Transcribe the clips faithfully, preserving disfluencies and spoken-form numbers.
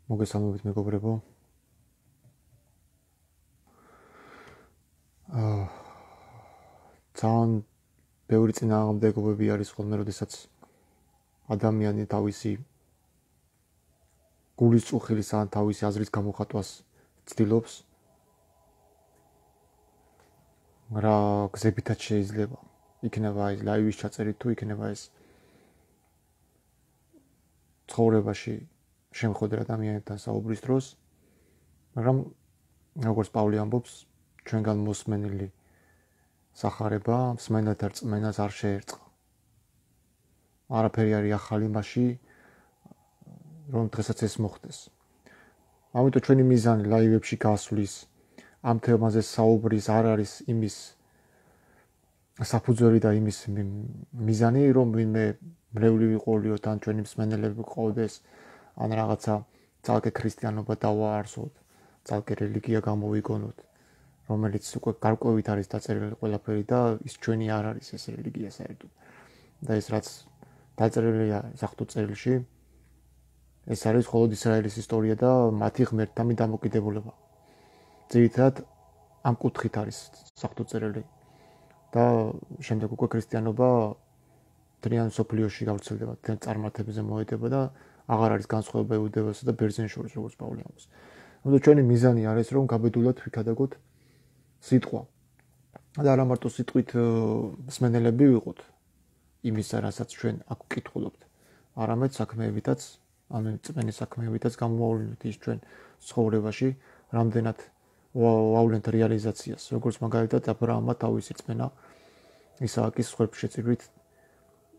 მოგესალმებით მეგობრებო. აა ძალიან ბევრი წინააღმდეგობები არის ხოლმე, როდესაც ადამიანი თავისი გულის წუხილის ან თავისი აზრის გამოხატვას ცდილობს. რა გზებითაც შეიძლება. იქნება ეს ლაივის ჩაწერით თუ იქნება ეს ცხოვრებაში შემოხვედრა ადამიანთან საუბრის დროს, მაგრამ როგორც პავლე ამბობს, ჩვენგან მოსმენილი სახარება მსმენელთა რწმენას არ შეერწყა. არაფერი არის ახალი მასში, რომ დღესაც ეს მოხდეს. ამიტომ ჩვენი მიზანი ლაივებში გასვლის, ამ თემაზე საუბრის არ არის იმის საფუძველი და იმის მიზანი, რომ ვინმე მრევლი ვიყოლიოთ, ან ჩვენი მსმენელები ყავდეს, ან რაღაცა ძალკე ქრისტიანობა დავაარსოთ, ძალკე რელიგია გამოვიგონოთ, რომელიც უკვე გარკვევით არის დაწერილი ყველაფერი და ის ჩვენი არ არის ეს რელიგია საერთოდ. და ეს რაც დაწერილია საფუძველ წერილში, ეს არის მხოლოდ ისრაელის ისტორია და მათი ღმერთთამი დამოკიდებულება. ძირითადად ამ კუთხით არის საფუძველ წერილი. და შემდეგ უკვე ქრისტიანობა ძალიან სოფლიოში გავრცელდება, ძალიან წარმართებზე მოედება და აღარ არის განსხვავება იუდეველსა და ბერძენს შორის, როგორც პავლე ამბობს. ამიტომ ჩვენი მიზანი არის, რომ გაბედულად ვიქადაგოთ სიტყვა. და არა მარტო სიტყვით მსმენელები ვიყოთ იმისა, რასაც ჩვენ აქ ვკითხულობთ, არამედ საქმეებითაც, ანუ წმენის საქმეებითაც გამოვავლინოთ ის ჩვენ ცხოვრებაში, რამდენად ვავლენთ რეალიზაციას, როგორც მაგალითად აბრაამმა თავისი რწმენა ისააკის ხვრებშეწირვით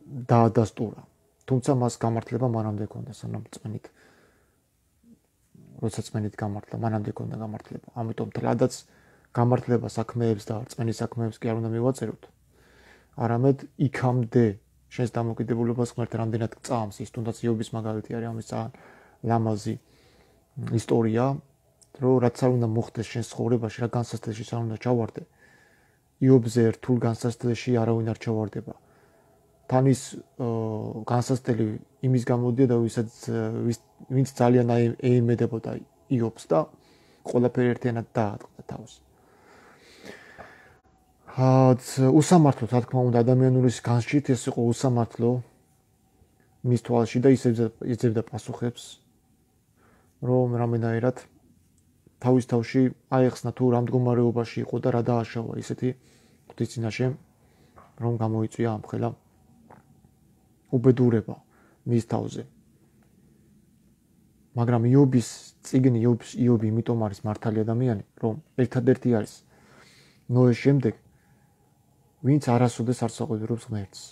დაადასტურა. თუმცა მას გამართლება მანამდე ჰქონდა, სანამ წმენით. როცა წმენით გამართლა, მანამდე ჰქონდა გამართლება. ამიტომ თლადაც გამართლება საქმეებს და წმენის საქმეებს კი არ უნდა მივაწეროთ. არამედ იქამდე შენს დამოკიდებულებას ღმერთი რამდენად გწამს, ის თუნდაც იობის მაგალითი არის ამის ძალიან ლამაზი ისტორია, რომ რაც არ უნდა მოხდეს შენს ცხოვრებაში, რა განსაცდელში არ უნდა ჩავარდე. იობზე რთულ განსაცდელში არავინ არ ჩავარდება. თან ის განსაცდელი იმის გამოდია და ვისაც ვინც ძალიან ეიმედებოდა იობს და ყველაფერი ერთიანად დაატყდა თავს. უსამართლო, რა თქმა უნდა, ადამიანურის განშით ეს იყო უსამართლო მის თვალში და იძლევდა პასუხებს, რომ რამდენადაც თავის თავში აეხსნა თუ რა მდგომარეობაში იყო და რა დააშავა ისეთი ღვთის წინაშე, რომ გამოიწვია ამხელა უბედურება მის თავზე. მაგრამ იობის წიგნი, იობი იმიტომ არის მართალი ადამიანი, რომ ერთადერთი არის ნოეს შემდეგ, ვინც არასოდეს არ საყვედურობს ღმერთს.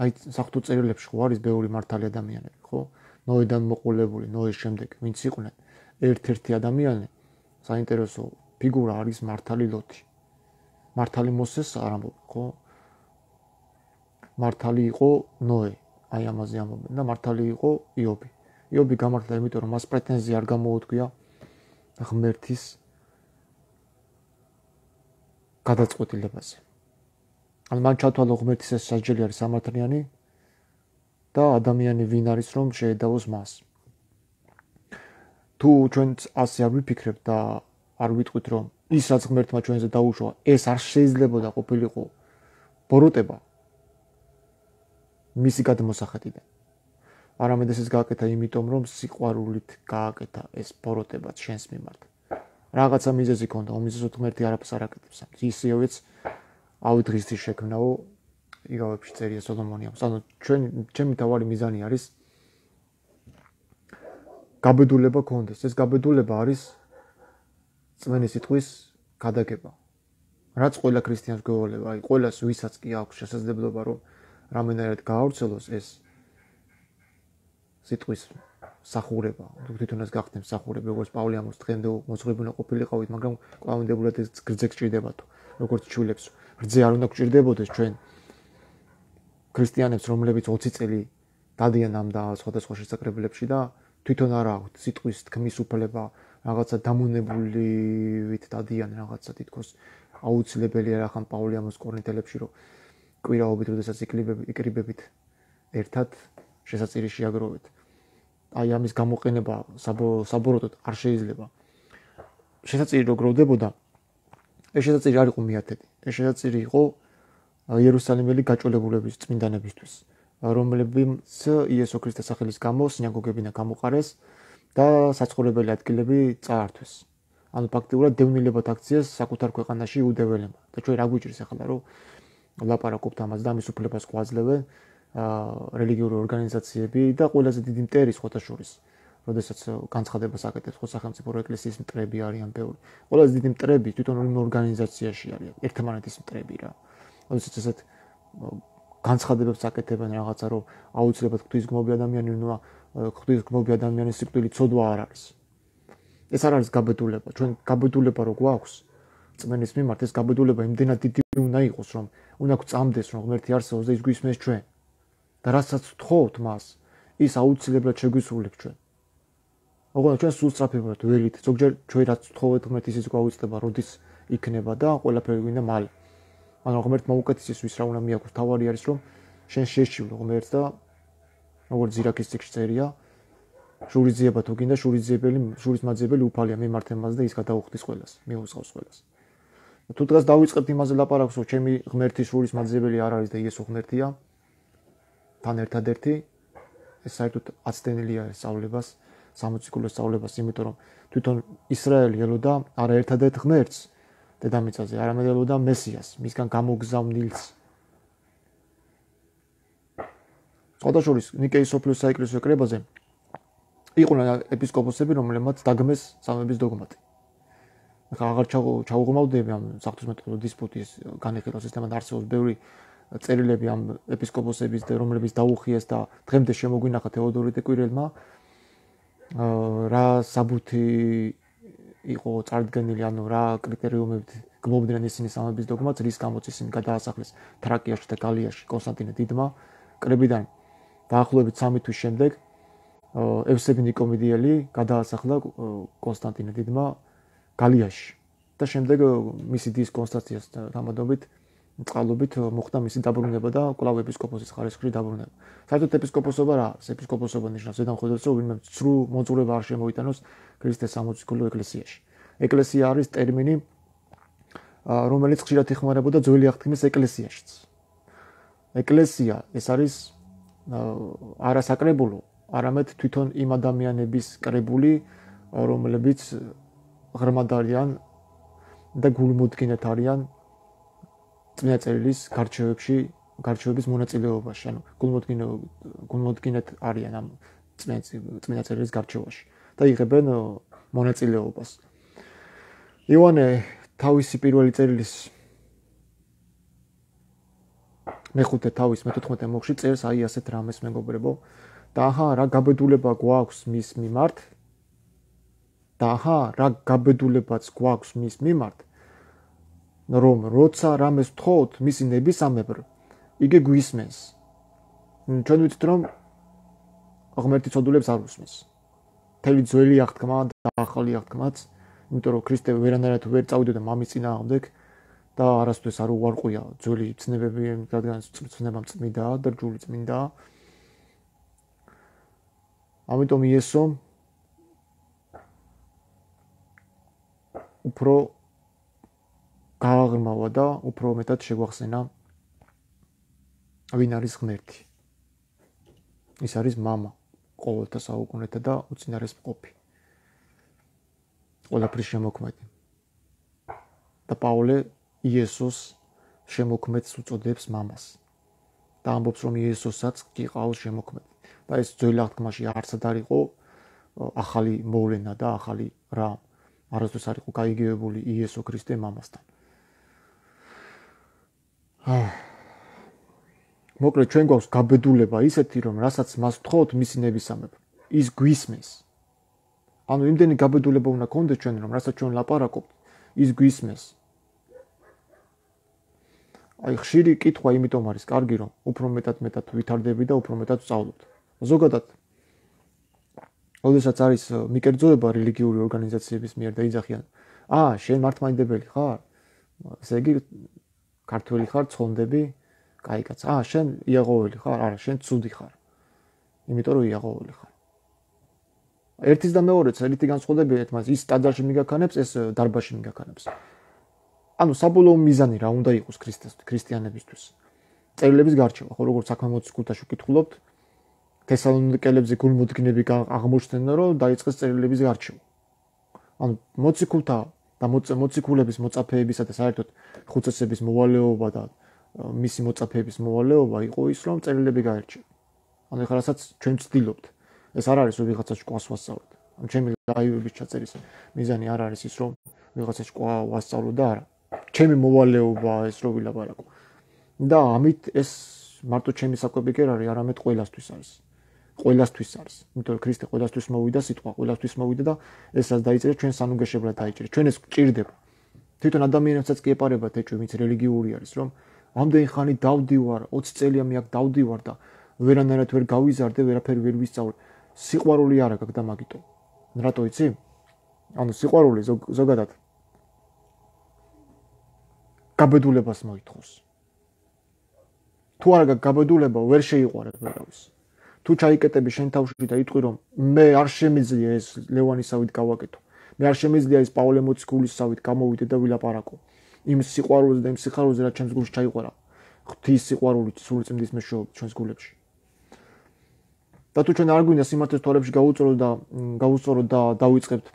აი საფუძველ წერილებში ხო არის ბევრი მართალი ადამიანები, ხო? ნოედან მოყოლებული, ნოეს შემდეგ, ვინც იყვნენ ერთ-ერთი ადამიანი, საინტერესო ფიგურა არის მართალი ლოთი. მართალი მოსეს არ ამბობ, ხო? მართალი იყო ნოე, აი ამაზე ამბობენ და მართალი იყო იობი. იობი გამართლა იმიტომ, რომ მას პრეტენზია არ გამოუდგია ღმერთის გადაწყვეტილებაზე. ან მან ჩათვალა ღმერთის ეს სასჯელი არის სამართლიანი და ადამიანი ვინ არის, რომ შეედავოს მას. თუ ჩვენც ასე არ ვიფიქრებთ და არ ვიტყვით, რომ ის რაც ღმერთმა ჩვენზე დაუშვა, ეს არ შეიძლებოდა ყოფილიყო ბოროტება მისი გადმოსახეთიდან. არამედ ეს გააკეთა იმიტომ, რომ სიყვარულით გააკეთა ეს ბოროტება შენს მიმართ. რაღაცა მიზეზი ჰქონდა, უმიზეზოდ ღმერთი არაფერს არ აკეთებს. ისევეც ავი დღისთვის შექმნაო იგავებში წერია სოლომონი ამბობს. ანუ ჩვენ ჩემი თავარი მიზანი არის გაბედულება გქონდეს. ეს გაბედულება არის წმენის სიტყვის გადაგება. რაც ყველა ქრისტიანს გვევალება, აი ყველას ვისაც კი აქვს შესაძლებლობა, რომ რამდენადაც გაავრცელოს ეს სიტყვის სახურება, თუ თვითონაც გახდეთ სახურება, როგორც პავლე ამბობს, დღემდე მოძღვებულნი ყოფილიყავით, მაგრამ კვლავინდებულად ეს გრძე გჭირდებათო, როგორც ჩვილებს. გრძე არ უნდა გჭირდებოდეს ჩვენ ქრისტიანებს, რომლებიც ოცი წელი დადიან ამ და სხვადასხვა შესაკრებლებში და თვითონ არ აქვთ სიტყვის თქმის უფლება, რაღაცა დამონებულივით დადიან რაღაცა თითქოს აუცილებელია რა ხან პავლე ამბობს კორინთელებში, რომ კვირაობით, როდესაც იკრიბებით ერთად შესაწირი შეაგროვეთ. აი ამის გამოყენება საბოროტოდ არ შეიძლება. შესაძლებელი რომ გროვდებოდა ეს შესაძლებელი არ იყო მეათედი. ეს შესაძლებელი იყო იერუსალიმელი გაჭოლებულების წმინდანებისთვის, რომლებიც იესო ქრისტეს სახელის გამო სინაგოგებიდან გამოყარეს და საცხოვრებელი ადგილები წაართვეს. ანუ ფაქტიურად დევნილებად აქციეს საკუთარ ქვეყანაში იუდეველებმა. და ჩვენ რა გვიჭირს ახლა რომ ლაპარაკობთ ამაზე და ამის უფლებას გვაძლევენ რელიგიური ორგანიზაციები და ყველაზე დიდი მტერი ხოთაშორის, როდესაც განცხადებას აკეთებს ხო სახელმწიფო ეკლესიის მტრები არიან ბევრი. ყველაზე დიდი მტრები თვითონ იმ ორგანიზაციაში არიან, ერთმანეთის მტრები რა. როდესაც ესეთ განცხადებებს აკეთებენ რაღაცა რომ აუცილებლად ღვთისგმობი ადამიანი უნდა ღვთისგმობი ადამიანის სიკვდილი ცოდვა არ არის. ეს არ არის გაბედულება. ჩვენ გაბედულება რო გვაქვს წმენის მიმართ, ეს გაბედულება იმდენად დიდი უნდა იყოს, რომ უნდა გვწამდეს, რომ ღმერთი არსებობს და ის გვისმენს ჩვენ. და რასაც ვთხოვთ მას, ის აუცილებლად შეგვისრულებს ჩვენ. ოღონდ ჩვენ სულ სწრაფებად ველით, ზოგჯერ ჩვენ რაც ვთხოვეთ ღმერთის ის გვაუწყდება, როდის იქნება და ყველაფერი გვინდა მალე. მაგრამ ღმერთმა უკეთესისთვის რა უნდა მიაქვს, თავარი არის რომ შენ შეშივლო ღმერთს და როგორც ზირაქის წიგნში წერია, შურიძიება თუ გინდა შურიძიებელი, შურის მაძიებელი უფალია მიმართე მას და ის გადაუხდის ყველას, მიუსყავს ყველას. თუ დღეს დავიწყებთ იმაზე ლაპარაკს, რომ ჩემი ღმერთის შურის მაძიებელი არ არის და იესო ღმერთია, თან ერთადერთი ეს საერთოდ აცდენილია სწავლებას, სამოციქულოს სწავლებას, იმიტომ რომ თვითონ ისრაელი ელოდა არა ერთადერთ ღმერთს დედამიწაზე, არამედ ელოდა მესიას, მისგან გამოგზავნილს. სხვადასხვა ნიკეის სოფლიოს საეკლესიო კრებაზე იყვნენ ეპისკოპოსები, რომლებმაც დაგმეს სამების დოგმატი. ახლა აღარ ჩაუღმავდები ამ საღვთისმეტყველო დისპუტის განხილვას, ესთანავე არსებობს ბევრი წერილები ამ ეპისკოპოსების და რომლებიც დაუხიეს და დღემდე შემოგვინახა თეოდორე ტეკვირელმა რა საბუთი იყო წარდგენილი, ანუ რა კრიტერიუმებით გმობდნენ ისინი სამების დოგმატს, რის გამოც ისინი გადაასახლეს თრაკიაში და გალიაში კონსტანტინე დიდმა კრებიდან დაახლოებით სამი თვის შემდეგ ევსები ნიკომიდიელი გადაასახლა კონსტანტინე დიდმა გალიაში და შემდეგ მისი დის კონსტანტიას თამადობით წყალობით მოხდა მისი დაბრუნება და კვლავ ეპისკოპოსის ხარისხში დაბრუნება. საერთოდ ეპისკოპოსობა რა არის? ეპისკოპოსობა ნიშნავს ზედან ხედავს რომ ვინმე ცრუ მოძღვრება არ შემოიტანოს ქრისტეს სამოციქულო ეკლესიაში. ეკლესია არის ტერმინი რომელიც ხშირად იხმარებოდა ძველი აღთქმის ეკლესიაშიც. ეკლესია ეს არის არა საკრებულო, არამედ თვითონ იმ ადამიანების კრებული, რომლებიც ღრმად არიან და გულმოდგინედ არიან წმინდა წერილის გარჩევებში, გარჩევების მონაწილეობაში, ანუ გულმოდგინედ არიან ამ წმინდა წერილის გარჩევაში და იღებენ მონაწილეობას. იოანე თავისი პირველი წერილის მეხუთე თავის მეთოთხმეტე მუხლში წერს აი ასეთ რამეს მეგობრებო და აჰა რა გაბედულება გვაქვს მის მიმართ და აჰა რა გაბედულებაც გვაქვს მის მიმართ რომ როცა რამეს ვთხოვთ მისი ნებისამებრ იგი გვისმენს. ჩვენ ვიცით რომ ღმერთი ცოდულებს არ უსმენს. მთელი ძველი აღთქმა და ახალი აღთქმაც, იმიტომ რომ ქრისტე ვერანაირად ვერ წავიდოდა მამის წინააღმდეგ და არასდროს არ უარყვია ძველი ცნებები, რადგან ცნებამ წმინდაა და რჯული წმინდაა. ამიტომ იესო უფრო გააღრმავა და უფრო მეტად შეგვახსენა ვინ არის ღმერთი. ის არის მამა ყოველთა საუკუნეთა და უწინარეს მყოფი. ყველაფრის შემოქმედი. და პაულე იესოს შემოქმედს უწოდებს მამას. და ამბობს რომ იესოსაც გიყავს შემოქმედი. და ეს ძველ აღთქმაში არცად არ იყო ახალი მოვლენა და ახალი რა. არასდროს არ იყო გაიგივებული იესო ქრისტე მამასთან. მოკლედ ჩვენ გვაქვს გაბედულება ისეთი რომ რასაც მას ვთხოვთ მისი ნებისამებრ ის გვისმენს. ანუ იმდენი გაბედულება უნდა გქონდეს ჩვენ რომ რასაც ჩვენ ლაპარაკობთ ის გვისმენს. აი ხშირი კითხვა იმიტომ არის კარგი რომ უფრო მეტად მეტად ვითარდები და უფრო მეტად ვსწავლობთ. ზოგადად როდესაც არის მიკერძოება რელიგიური ორგანიზაციების მიერ და იძახიან აა შენ მართლმადიდებელი ხარ? ესე იგი ქართველი ხარ, ცხონდები, კაი კაც. აა შენ იაღოველი ხარ? არა, შენ ცუდი ხარ. იმიტომ რომ იაღოველი ხარ. ერთის და მეორეც ერთი განსხვავდებია, მაგრამ ის ტაძარში მიგაქანებს, ეს დარბაზში მიგაქანებს. ანუ საბოლოო მიზანი რა უნდა იყოს ქრისტესთვის, ქრისტიანებისთვის. წერილების გარჩევა, ხო როგორც საქმე მოციქულთაში ვკითხულობთ, თესალონიკელებზე გულმოდგინები აღმოჩნდნენ, რომ დაიწყეს წერილების გარჩევა. ანუ მოციქულთა და მოციქულების მოწაფეებისა და საერთოდ ხუცესების მოვალეობა და მისი მოწაფეების მოვალეობა იყო ის, რომ წერილები გაერჩევა. ანუ ეხლა რასაც ჩვენ ვცდილობთ, ეს არ არის რომ ვიღაცა შკვას ვასწავლოთ. ანუ ჩემი ლაივების ჩაწერის მიზანი არ არის ის, რომ ვიღაცა შკვა ვასწავლო და არა. ჩემი მოვალეობა ეს რო ვილაპარაკო. და ამით ეს მარტო ჩემი საკვები კი არ არის, არამედ ყველასთვის არის. ყველასთვის არის. იმიტომ რომ ქრისტე ყველასთვის მოვიდა, სიტყვა ყველასთვის მოვიდა და ესაც დაიწერა ჩვენ სანუგეშებლად დაიჭერა. ჩვენ ეს გჭირდება. თვითონ ადამიანებსაც კი ეპარებათ ეჭვი, ვინც რელიგიური არის, რომ ამდენი ხანი დავდივარ, ოცი წელია მე აქ დავდივარ და ვერანაირად ვერ გავიზარდე, ვერაფერი ვერ ვისწავლე. სიყვარული არა გაქვს და მაგიტომ. რატო იცი? ანუ სიყვარული ზოგადად გაბედულებას მოითხოვს. თუ არა გაქვს გაბედულება, ვერ შეიყვარებ ვერავის. თუ ჩაიკეტები შენ თავში და იტყვი რომ მე არ შემიძლია ეს ლევანისავით გავაკეთო. მე არ შემიძლია ეს პავლე მოციქულისავით გამოვიდე და ვილაპარაკო. იმ სიყვარულზე და იმ სიხარულზე რაც ჩემს გულში ჩაიყვარა. ღვთის სიყვარულით, სულიწმიდის მეშვეობით ჩვენს გულებში. და თუ ჩვენ არ გვინდა სიმართლის თვალებში გავუწორო და გავუწორო და დავიწყებთ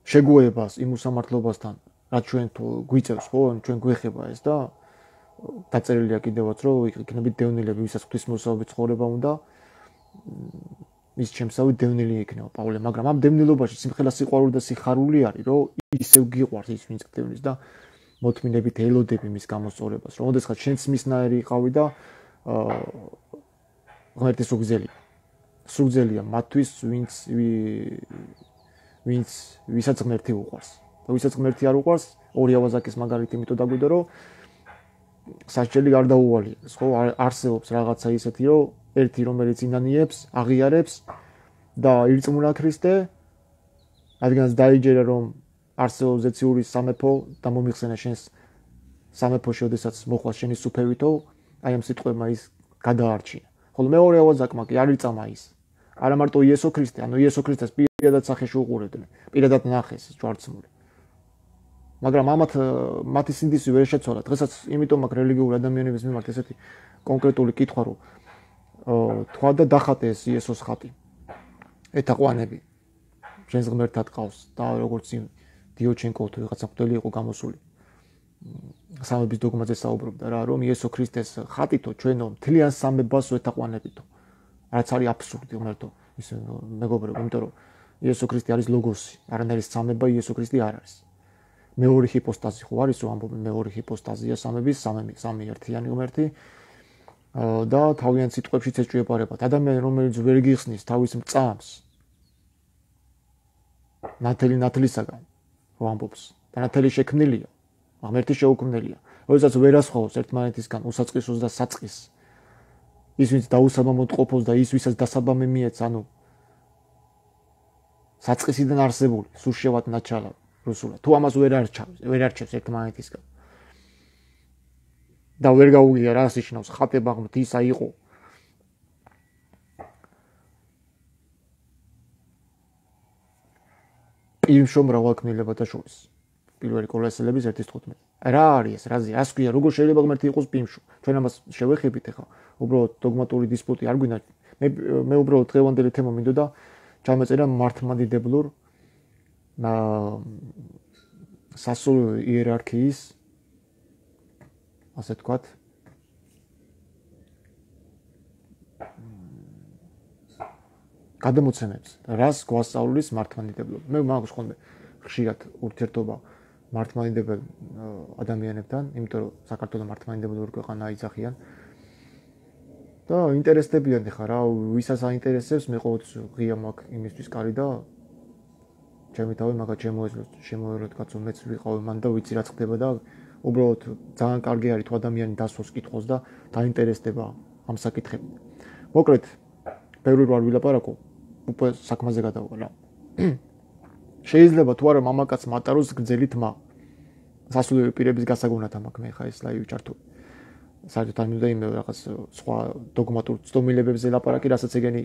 შეგუებას იმ უსამართლობასთან, რაც ჩვენ თუ გვიწევს, ხო, ჩვენ გვეხება ეს და დაწერილია კიდევაც რომ იქნებით დევნილები, ვისაც ღვთისმოსავებით ცხოვრება უნდა, ის ჩემსავით დევნილი იქნება პავლე, მაგრამ ამ დევნილობაში სიმხელა სიყვარული და სიხარული არის, რომ ისევ გიყვარს ის ვინც დევნის და მოთმინებით ელოდები მის გამოსწორებას, რომ ოდესღაც შენც მისნაირი იყავი და ღმერთი სუგზელია. სუგზელია მათთვის, ვინც ვინც ვისაც ღმერთი უყვარს. და ვისაც ღმერთი არ უყვარს, ორი ავაზაკის მაგალითი იმიტომ დაგვიდა, რომ სასჯელი გარდაუვალია. ხო, არსებობს რაღაცა ისეთი, რომ ერთი რომელიც ინანიებს, აღიარებს და ირწმუნა ქრისტე, რადგანაც დაიჯერა რომ არსებობს ზეციურის სამეფო და მომიხსენა შენს სამეფოში, ოდესაც მოხვალ შენი სუფევითო, აი ამ სიტყვებმა ის გადაარჩინა. ხოლო მეორე ავაზაკმა კი არ იწამა ის. არა მარტო იესო ქრისტე, ანუ იესო ქრისტეს პირადად სახეში უყურებდნენ, პირადად ნახეს ჯვარცმული. მაგრამ ამათ მათი სინდისი ვერ შეცვალა. დღესაც იმიტომ მაქვს რელიგიური ადამიანების მიმართ ესეთი კონკრეტული კითხვა, რომ თქვა და დახატე ეს იესოს ხატი. ეთაყვანები. შენს ღმერთად ყავს და როგორც იმ დიოჩენკო თუ ვიღაცა მღვდელი იყო გამოსული. სამების დოგმაზე საუბრობდა რა, რომ იესო ქრისტეს ხატითო ჩვენო მთლიან სამებას ეთაყვანებითო. რაც არის აბსურდი, ღმერთო, ის მეგობრებო, იმიტომ რომ იესო ქრისტე არის ლოგოსი, არანაირი სამება იესო ქრისტე არ არის. მეორე ჰიპოსტაზი ხო არის, რომ ამბობენ მეორე ჰიპოსტაზია სამების, სამი სამი ერთიანი ღმერთი და თავიანთ სიტყვებშიც ეჭვიებარებათ. ადამიანი რომელიც ვერ გიხსნის თავის მწამს ნათელი ნათლისაგან ხო ამბობს და ნათელი შექმნილია, ღმერთი შეუქმნელია. როდესაც ვერასხოვს ერთმანეთისგან უსაწყისოს და საწყისს, ის ვინც დაუსაბამოდ ყოფოს და ის ვისაც დასაბამი მიეც, ანუ საწყისიდან არსებული, სუშევად ნაჩალა რუსულად. თუ ამას ვერ არჩევს, ვერ არჩევს ერთმანეთისგან. და ვერ გაუგია რას იშნავს ხატება ღმრთისა იყო. პირმშო მრავალქმნილებათა შორის. პირველი კოლოსელების ერთი თხუთმეტი. რა არის ეს? რაზე? რას ქვია? როგორ შეიძლება ღმერთი იყოს პირმშო? ჩვენ ამას შევეხებით ახლა. უბრალოდ დოგმატური დისპუტი არ გვინდა. მე მე უბრალოდ დღევანდელი თემა მინდოდა ჩამეწერა მართლმადიდებლურ სასულიერო იერარქიის ასე თქვათ გადამოცემებს, რას გვასწავლის მართლმადიდებლობა. მე მაქვს ხოლმე ხშირად ურთიერთობა მართლმადიდებელ ადამიანებთან, იმიტომ რომ საქართველოს მართლმადიდებლური ქვეყანა აიძახიან. და ინტერესდებიან ხა რა, ვისაც აინტერესებს, მე ყოველთვის ღია მაქვს იმისთვის კარი და ჩემი თავი მაგათ შემოეძლოს, შემოეროთ კაცო, მეც ვიყავი მან და ვიცი რა ხდება და უბრალოდ ძალიან კარგი არის თუ ადამიანი დასვოს კითხოს და დაინტერესდება ამ საკითხებით. მოკლედ, ბევრი რვარ ვილაპარაკო, უკვე საქმეზე გადავალ რა. შეიძლება თუ არა მამაკაც მატაროს გრძელი თმა. სასულიერო პირების გასაგონად მაქვს მე ხა ეს ლაივი ჩართული. საერთოდ არ მინდა იმ რაღაც სხვა დოგმატურ ცდომილებებზე ლაპარაკი, რასაც ეგენი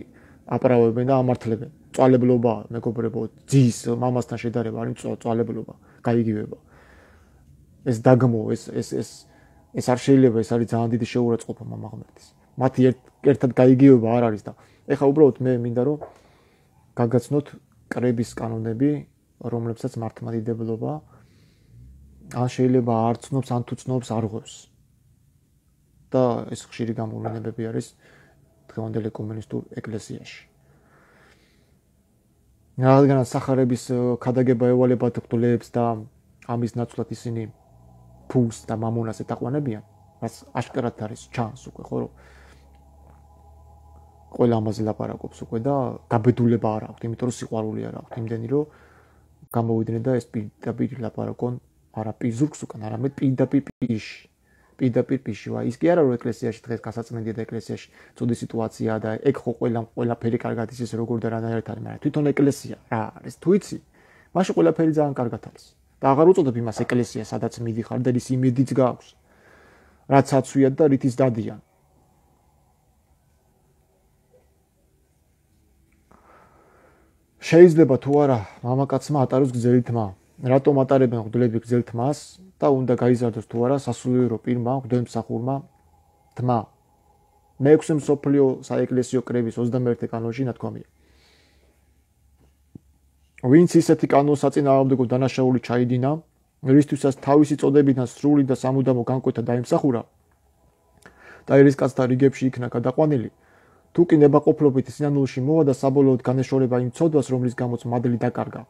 აპარავებენ და ამართლებენ. წვალებლობა, მეგობრებო, ძის მამასთან შედარება არის წვალებლობა, გაიგივება. ეს დაგმო, ეს ეს ეს ეს არ შეიძლება, ეს არის ძალიან დიდი შეურაცხყოფა მამა ღმერთის. მათი ერთად გაიგივება არ არის და ეხლა უბრალოდ მე მინდა რომ გაგაცნოთ კრების კანონები, რომლებსაც მართლმადიდებლობა ან შეიძლება არ ცნობს, ან თუ ცნობს არ ღვევს. და ეს ხშირი გამოვლენებები არის დღევანდელ ეკუმენისტურ ეკლესიაში. რადგანაც სახარების ქადაგება ევალებათ ბრძოლებს და ამის ნაცვლად ისინი ფულს და მამონას ეთაყვანებიან, რაც აშკარად არის ჩანს უკვე, ხო რომ ყველა ამაზე ლაპარაკობს უკვე და გაბედულება არ აქვს, იმიტომ რომ სიყვარული არ აქვს, იმდენი რომ გამოვიდნენ და ეს პირდაპირ ლაპარაკონ არა პიზურკს უკან, არამედ პირდაპირ პირში. პირდაპირ პირში. ვა ის კი არა რომ ეკლესიაში დღეს გასაწმენდია და ეკლესიაში ცუდი სიტუაციაა და ეგ ხო ყველა ყველაფერი კარგად ისე როგორ და რანაირად არის, მაგრამ თვითონ ეკლესია რა არის, თუ იცი, მაშინ ყველაფერი ძალიან კარგად არის. და აღარ უწოდებ იმას ეკლესიას, სადაც მიდიხარ და ის იმედიც გაქვს, რაც აცვიათ და რითიც დადიან. შეიძლება თუ არა მამაკაცმა ატაროს გრძელი თმა. რატომ ატარებენ მღვდლები გრძელ თმას და უნდა გაიზარდოს თუ არა სასულიერო პირმა მღვდელმსახურმა თმა. მეექვსე მსოფლიო საეკლესიო კრების ოცდამეერთე კანონში ნათქვამია. ვინც ისეთი კანონს საწინააღმდეგო დანაშაული ჩაიდინა, რისთვისაც თავისი წოდებიდან სრული და სამუდამო განკვეთა დაიმსახურა და ერისკაცთა რიგებში იქნა გადაყვანილი, თუ კი ნებაყოფლობით სინანულში მოვა და საბოლოოდ განეშორება იმ ცოდვას, რომლის გამოც მადლი დაკარგა,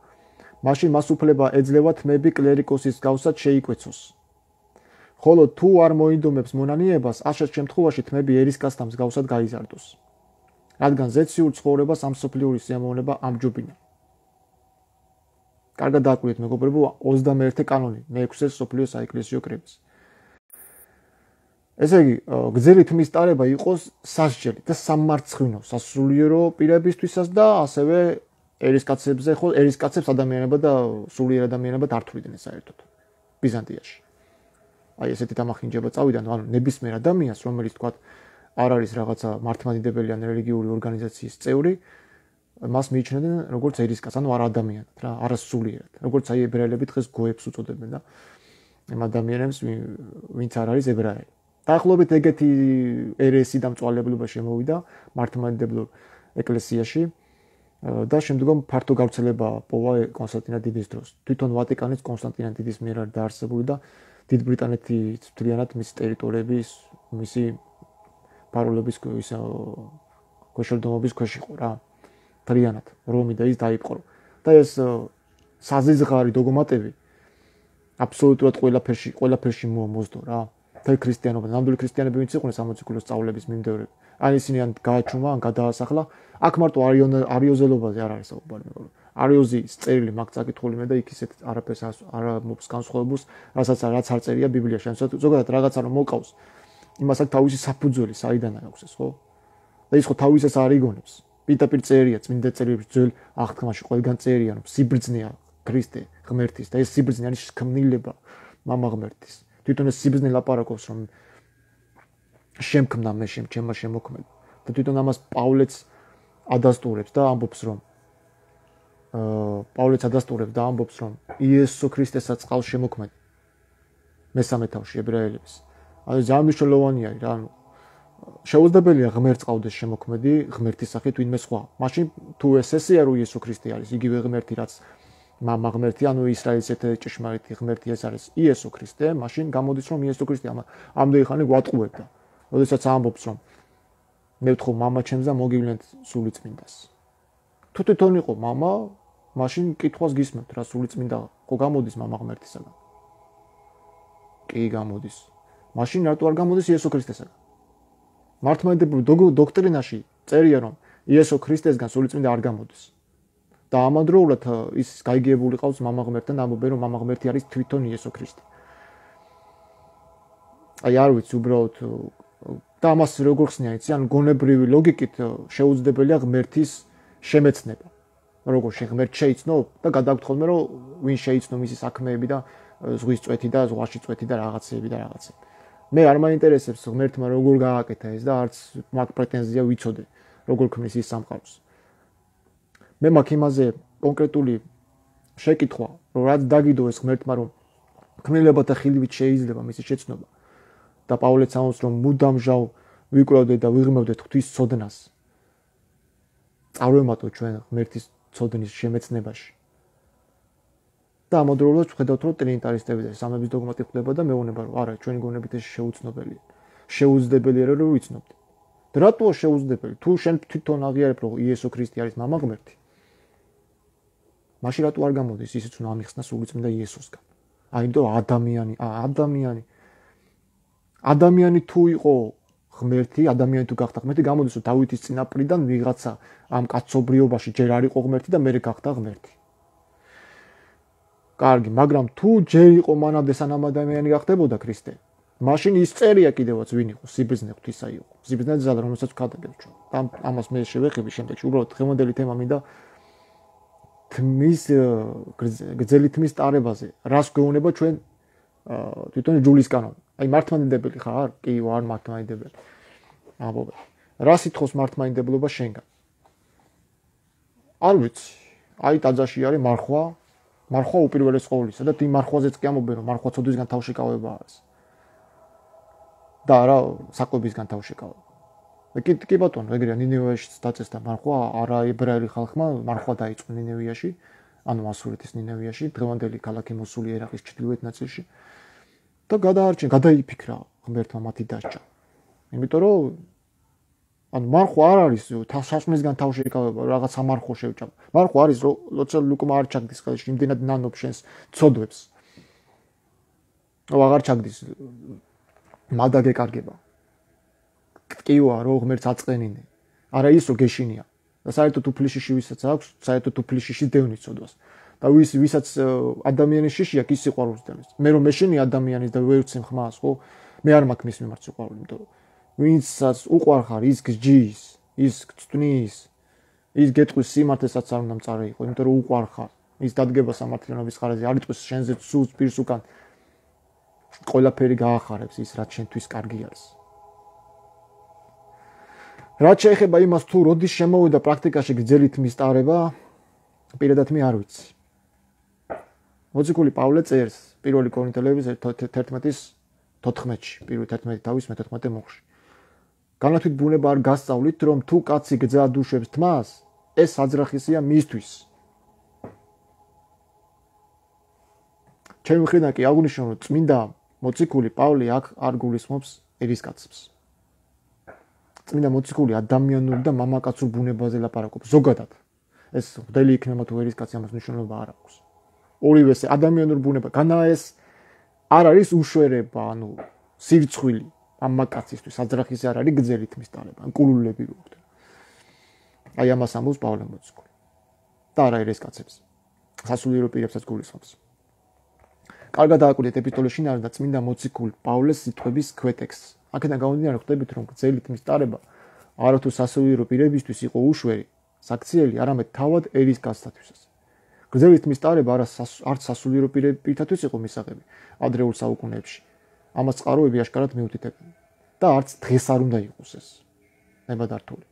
მაშინ მას უფლება ეძლევა თმები კლერიკოსის გავსად შეიკვეცოს. ხოლო თუ არ მოინდომებს მონანიებას, ასეთ შემთხვევაში თმები ერისკაცთა მსგავსად გაიზარდოს, რადგან ზეციურ ცხოვრებას ამ სოფლიური სიამოვნება ამჯობინა. კარგად დააკვირდით მეგობრებო, ოცდამეერთე კანონი მეექვსე სოფლიო საეკლესიო კრების. ესე იგი, გრძელი თმის ტარება იყოს სასჯელი და სამარცხვინო სასულიერო პირებისთვისაც და ასევე ერისკაცებზე, ხო, ერისკაცებს ადამიანებად და სულიერ ადამიანებად არ თვლიდნენ საერთოდ ბიზანტიაში. აი ესეთი დამახინჯება წავიდა, ანუ ნებისმიერ ადამიანს, რომელიც თქვა არ არის რაღაცა მართლმადიდებელი ან რელიგიური ორგანიზაციის წევრი, მას მიიჩნევდნენ როგორც ერისკაცს, ანუ არ ადამიანად რა, არასულიერად. როგორც აი ებრაელები დღეს გოებს უწოდებენ და ამ ადამიანებს, ვინც არ არის ებრაელი. დაახლოებით ეგეთი ერესი და მწვალებლობა შემოვიდა მართლმადიდებლურ ეკლესიაში და შემდგომ ფართო გავრცელება პოვა კონსტანტინე დიდის დროს. თვითონ ვატიკანიც კონსტანტინე დიდის მიერ არის დაარსებული და დიდ ბრიტანეთის მთლიანად მისი ტერიტორიების, მისი პაროლების ისე ქვეშევრდომობის ქვეშ იყო რა. მთლიანად რომი და ის დაიპყრო. და ეს საზიზღარი დოგმატები აბსოლუტურად ყველაფერში, ყველაფერში მომოздო რა. თელ ქრისტიანობა, ნამდვილი ქრისტიანები ვინც იყვნენ სამოციქულო სწავლების მიმდევრები. ან ისინი ან გააჩუმა, ან გადაასახლა. აქ მარტო არიოზელობაზე არ არის საუბარი, მაგრამ არიოზის წერილი მაგ წაკითხული მე და იქ ისეთ არაფერს არ მოყავს განსხვავებულს, რასაც რაც არ წერია ბიბლიაში. ან ზოგადად რაღაცა რომ მოკავს, იმას აქ თავისი საფუძველი საიდან აქვს ეს, ხო? და ის ხო თავისას არ იგონებს. პირდაპირ წერია წმინდა წერილებში ძველ აღთქმაში ყველგან წერია, რომ სიბრძნეა ქრისტე ღმერთის და ეს სიბრძნე არის ქმნილება მამა ღმერთის. თვითონ ეს სიბრძნე ლაპარაკობს, რომ შემქმნა მე შემ ჩემმა შემოქმედა და თვითონ ამას პავლეც ადასტურებს და ამბობს, რომ აა პავლეც ადასტურებს და ამბობს, რომ იესო ქრისტესაც ყავს შემოქმედა მესამე თავში ებრაელების. ანუ ძალიან მნიშვნელოვანია რა, ანუ შეუძლებელია ღმერთს ყავდეს შემოქმედი ღმერთის სახით ვინმე სხვა. მაშინ თუ ეს ესეა რომ იესო ქრისტე არის, იგივე ღმერთი რაც მამა ღმერთი, ანუ ისრაელის ერთ-ერთი ჭეშმარიტი ღმერთი ეს არის იესო ქრისტე, მაშინ გამოდის რომ იესო ქრისტე ამ ამდენი ხანი გვატყუებდა. როდესაც ამბობს რომ მე ვთხოვ მამა ჩემს და მოგივლენთ სული წმინდას. თუ თვითონ იყო მამა, მაშინ კითხვას გისმენთ რა სული წმინდა ხო გამოდის მამა ღმერთისაგან? კი გამოდის. მაშინ რატო არ გამოდის იესო ქრისტესაგან? მართლმადიდებლურ დოქტრინაში წერია რომ იესო ქრისტესგან სული წმინდა არ გამოდის. და ამავდროულად ის გაიგებული ყავს მამა ღმერთთან, ამბობენ რომ მამა ღმერთი არის თვითონ იესო ქრისტე. აი არ ვიცი უბრალოდ და ამას როგორ ხსნიან, იცი, ან გონებრივი ლოგიკით შეუძლებელია ღმერთის შემეცნება. როგორ ღმერთ შეიცნო და გადაგთხოვდნენ რომ ვინ შეიცნო მისი საქმეები და ზღვის წვეთი და ზღვაში წვეთი და რაღაცეები და რაღაცეები. მე არ მაინტერესებს ღმერთმა როგორ გააკეთა ეს და არც მაგ პრეტენზია ვიცოდე, როგორ ქმნის ის სამყაროს. მე მაქვს იმაზე კონკრეტული შეკითხვა, რომ რაც დაგიდო ეს ღმერთმა, რომ ქმნილებათა ხილივით შეიძლება მისი შეცნობა და პავლეც ამბობს, რომ მუდამჟავ ვიკვლევდეთ და ვიღრმევდეთ ღვთის ცოდნას. წარვემატო ჩვენ ღმერთის ცოდნის შემეცნებაში. და ამავდროულად ვხედავთ, რომ ტრინიტარისტები და სამების დოგმატი ხდება და მეუბნება, რომ არა, ჩვენი გონებით ეს შეუცნობელია. შეუძლებელია რომ ვიცნობთ. და რატოა შეუძლებელი? თუ შენ თვითონ აღიარებ, რომ იესო ქრისტე არის მამა ღმერთი. მაშინ რატო არ გამოდის ისიც უნდა ამიხსნა სულიწმინდა იესოსგან? აიმიტომ ადამიანი, ადამიანი. ადამიანი თუ იყო ღმერთი, ადამიანი თუ გახდა ღმერთი, გამოდის რომ დავითის წინაპრიდან ვიღაცა ამ კაცობრიობაში ჯერ არ იყო ღმერთი და მერე გახდა ღმერთი. კარგი, მაგრამ თუ ჯერ იყო მანამდე სანამ ადამიანი გახდებოდა ქრისტე, მაშინ ის წერია კიდევაც ვინ იყო, სიბრძნე ღვთისა იყო. სიბრძნე ძალა, რომელსაც ვქადაგებთ ჩვენ. და ამას მე შევეხები შემდეგში. უბრალოდ დღევანდელი თემა მინდა თმის გრძელი თმის ტარებაზე. რას გვეუბნება ჩვენ თვითონ ჯულის კანონი. აი მართლმადიდებელი ხარ? კი, ვარ მართლმადიდებელი. ამბობ. რა სიტყვის მართლმადიდებლობა შენგან? არ ვიცი. აი ტაძარში არის მარხვა, მარხვა უპირველეს ყოვლისა და იმ მარხვაზეც კი ამობენ, რომ მარხვა ცოდვისგან თავშეკავება არის. და რა საკვებისგან თავშეკავება. კი კი ბატონო, ეგრეა ნინევიაში დაწესდა მარხვა, არა ებრაელი ხალხმა მარხვა დაიწყო ნინევიაში, ანუ ასურეთის ნინევიაში, დღევანდელი ქალაქი მოსული ერაყის ჩრდილოეთ ნაწილში. და გადაარჩენ, გადაიფიქრა ღმერთმა მათი დასჯა. იმიტომ რომ ანუ მარხვა არ არის სასმისგან თავშეკავება, რაღაც სამარხო შევჭამ. მარხვა არის როცა ლუკმა არ ჩაგდის ხელში, იმდენად ნანობს შენს ცოდვებს. აღარ ჩაგდის მადა გეკარგება. ტკივა რო ღმერთს აწყენინე. არა ის რო გეშინია. და საერთოდ უფლიში ვისაც აქვს, საერთოდ უფლიში დევნით ცოდვას. და ვის ვისაც ადამიანის შიში აქვს ის სიყვარულს დევნის. მე რომ მეშინი ადამიანის და ვერ ვცემ ხმას, ხო? მე არ მაქვს მის მიმართ სიყვარული, იმიტომ რომ ვინცაც უყვარხარ, ის გჯის, ის გწვნის, ის გეტყვის სიმართლესაც არ უნდა მწარე იყო, იმიტომ რომ უყვარხარ. ის დადგება სამართლიანობის ხარაზე, არ იტყვის შენზე სულს პირს უკან. ყველაფერი გაახარებს ის, რაც შენთვის კარგი არის. რაც შეეხება იმას, თუ როდის შემოვიდა პრაქტიკაში გრძელი თმის ტარება, პირადად მე არ ვიცი. მოციქული პავლე წერს პირველი კორინთელების თერთმეტის თოთხმეტში, პირველი თერთმეტი თავის მეთოთხმეტე მოხში. განათვით ბუნება არ გასწავლით, რომ თუ კაცი გძა დუშებს თმას, ეს საძრახისია მისთვის. ჩემი მხრიდან კი აღნიშნო, რომ წმინდა მოციქული პავლე აქ არ გულისხმობს ერისკაცებს. წმინდა მოციქული ადამიანურ და მამაკაცურ ბუნებაზე ლაპარაკობს ზოგადად. ეს ღვთელი იქნება თუ ერისკაცი, ამას მნიშვნელობა არ აქვს. ორივეს ადამიანურ ბუნება, განა ეს არ არის უშვერება, ანუ სირცხვილი მამაკაცისთვის, საძრახისი არ არის გრძელი თმის ტარება, ან კულულები რო ხდება. აი ამას ამბობს პავლე მოციქული. და არა ერისკაცებს. სასულიერო პირებსაც გულისხმობს. კარგად დააკვირდეთ ეპისტოლეს შინაარსს და წმინდა მოციქულ პავლეს სიტყვების ქვეტექსტს. აქედან გამომდინარე ხვდებით, რომ გრძელი თმის ტარება არათუ სასულიერო პირებისთვის იყო უშვერი, საქციელი, არამედ თავად ერისკაცთათვისაც. გრძელი თმის ტარება არც სასულიერო პირთათვის იყო მისაღები ადრეულ საუკუნეებში. ამას წყაროები აშკარად მიუთითებენ და არც დღეს არ უნდა იყოს ეს ნებადართული.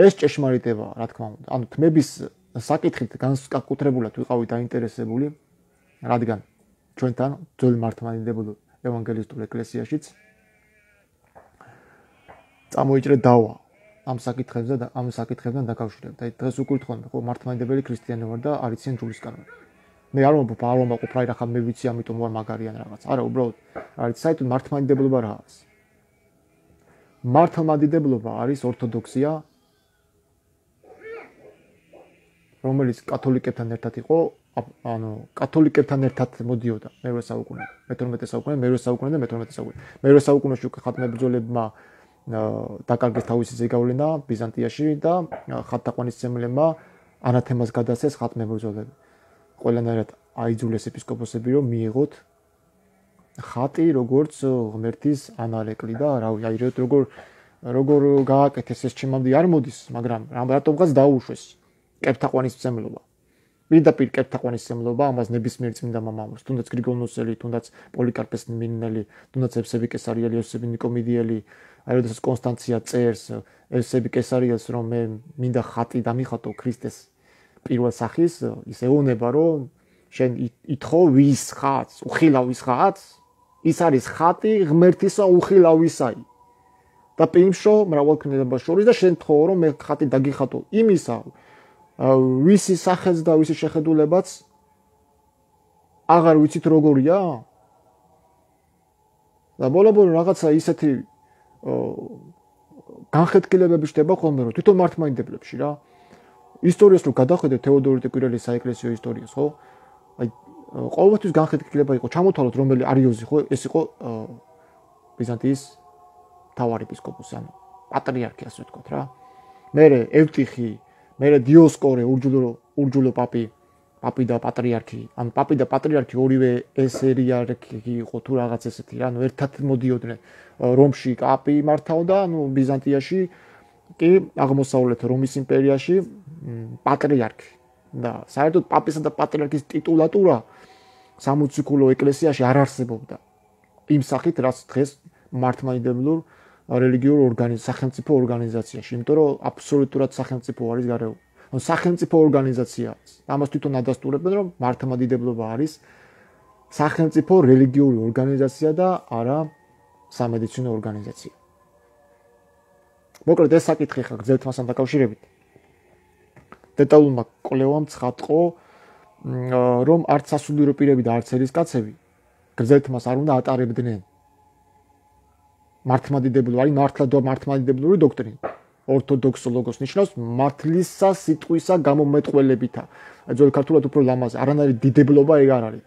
ეს ჭეშმარიტებაა, რა თქმა უნდა. ანუ თმების საკითხით განსაკუთრებულად ვიყავით დაინტერესებული, რადგან ჩვენთან ძველ მართლმადიდებელ ევანგელისტურ ეკლესიაშიც წამოიჭრე დავა ამ საკითხებზე და ამ საკითხებთან დაკავშირებით. აი დღეს უკვე თქვენ, ხო, მართლმადიდებელი ქრისტიანი ვარ და არ იციან ჯულის კანონი. მე არ ვამბობ, არ ვამბობ, რა ხა მე ვიცი, ამიტომ ვარ მაგარიან რაღაც. არა, უბრალოდ არის საერთოდ მართლმადიდებლობა რა არის. მართლმადიდებლობა არის ორთოდოქსია, რომელიც კათოლიკებთან ერთად იყო, ანუ კათოლიკებთან ერთად მოდიოდა მერვე საუკუნე, მეთორმეტე საუკუნე, მერვე საუკუნე და მეთორმეტე საუკუნე. მერვე საუკუნეში უკვე ხატმებრძოლებმა დაკარგეს თავისი ზეგავლენა ბიზანტიაში და ხატთაყვანისმცემლებმა ანათემას გადასცეს ხატმებრძოლები. ყველანაირად აიძულეს ეპისკოპოსები, რომ მიიღოთ ხატი როგორც ღმერთის ანარეკლი და რავი, აირევთ როგორ როგორ გააკეთეს ეს ჩემამდე არ მოდის, მაგრამ რატომღაც დაუშვეს კეფთაყვანისმცემლობა. პირდაპირ კეთთაყვანისმცემლობა ამას ნებისმიერ წმინდა მამამს, თუნდაც გრიგოლ ნოსელი, თუნდაც პოლიკარპეს მინინელი, თუნდაც ევსები კესარიელი, ევსები ნიკომიდიელი, აი როდესაც კონსტანცია წერს ევსები კესარიელს, რომ მე მინდა ხატი დამიხატო ქრისტეს პირველ სახის, ის ეუბნება, რომ შენ ითხოვ ვის ხატს, უხილავის ხატს, ის არის ხატი ღმერთისა უხილავისაი. და პიმშო მრავალქმედებას შორის და შენ თხოვ, რომ მე ხატი დაგიხატო იმისა, ვისი სახეც და ვისი შეხედულებაც აღარ ვიცით როგორია? და ბოლო-ბოლო რაღაცა ისეთი განხეთქილებები ხდება ხოლმე, რომ თვითონ მართლმადიდებლებში რა. ისტორიას რო გადახედეთ თეოდორიტე კვირელის საეკლესიო ისტორიას, ხო? აი ყოველთვის განხეთქილება იყო, ჩამოთვალოთ რომელი არიოზი, ხო? ეს იყო ბიზანტიის მთავარი ეპისკოპოსი, ანუ პატრიარქი ასე ვთქვათ რა. მერე ევტიხი, მერე დიოსკორე, ურჯულო ურჯულო პაპი, პაპი და პატრიარქი, ანუ პაპი და პატრიარქი ორივე ეს ერიარქი იყო თუ რაღაც ესეთი რა, ანუ ერთად მოდიოდნენ. რომში პაპი მართავდა, ანუ ბიზანტიაში კი აღმოსავლეთ რომის იმპერიაში პატრიარქი. და საერთოდ პაპისა და პატრიარქის ტიტულატურა სამოციქულო ეკლესიაში არ არსებობდა. იმ სახით, რაც დღეს მართლმადიდებლურ რელიგიურ ორგანიზ სახელმწიფო ორგანიზაციაში, იმიტომ რომ აბსოლუტურად სახელმწიფო არის გარეული. ანუ სახელმწიფო ორგანიზაცია. ამას თვითონ ადასტურებენ, რომ მართლმადიდებლობა არის სახელმწიფო რელიგიური ორგანიზაცია და არა სამედიცინო ორგანიზაცია. მოკლედ ეს საკითხი ხა გრძელთ მასთან დაკავშირებით. დეტალურმა კვლევამ ცხადყო, რომ არც სასულიერო პირები და არც ერისკაცები გრძელთ მას არ უნდა ატარებდნენ. მართლმადიდებლური, არის მართლა და მართლმადიდებლური დოქტრინა. ორთოდოქსო ლოგოს ნიშნავს მართლისა სიტყვისა გამომეტყველებითა. ძველ ქართულად უფრო ლამაზი, არანაირი დიდებლობა ეგ არ არის.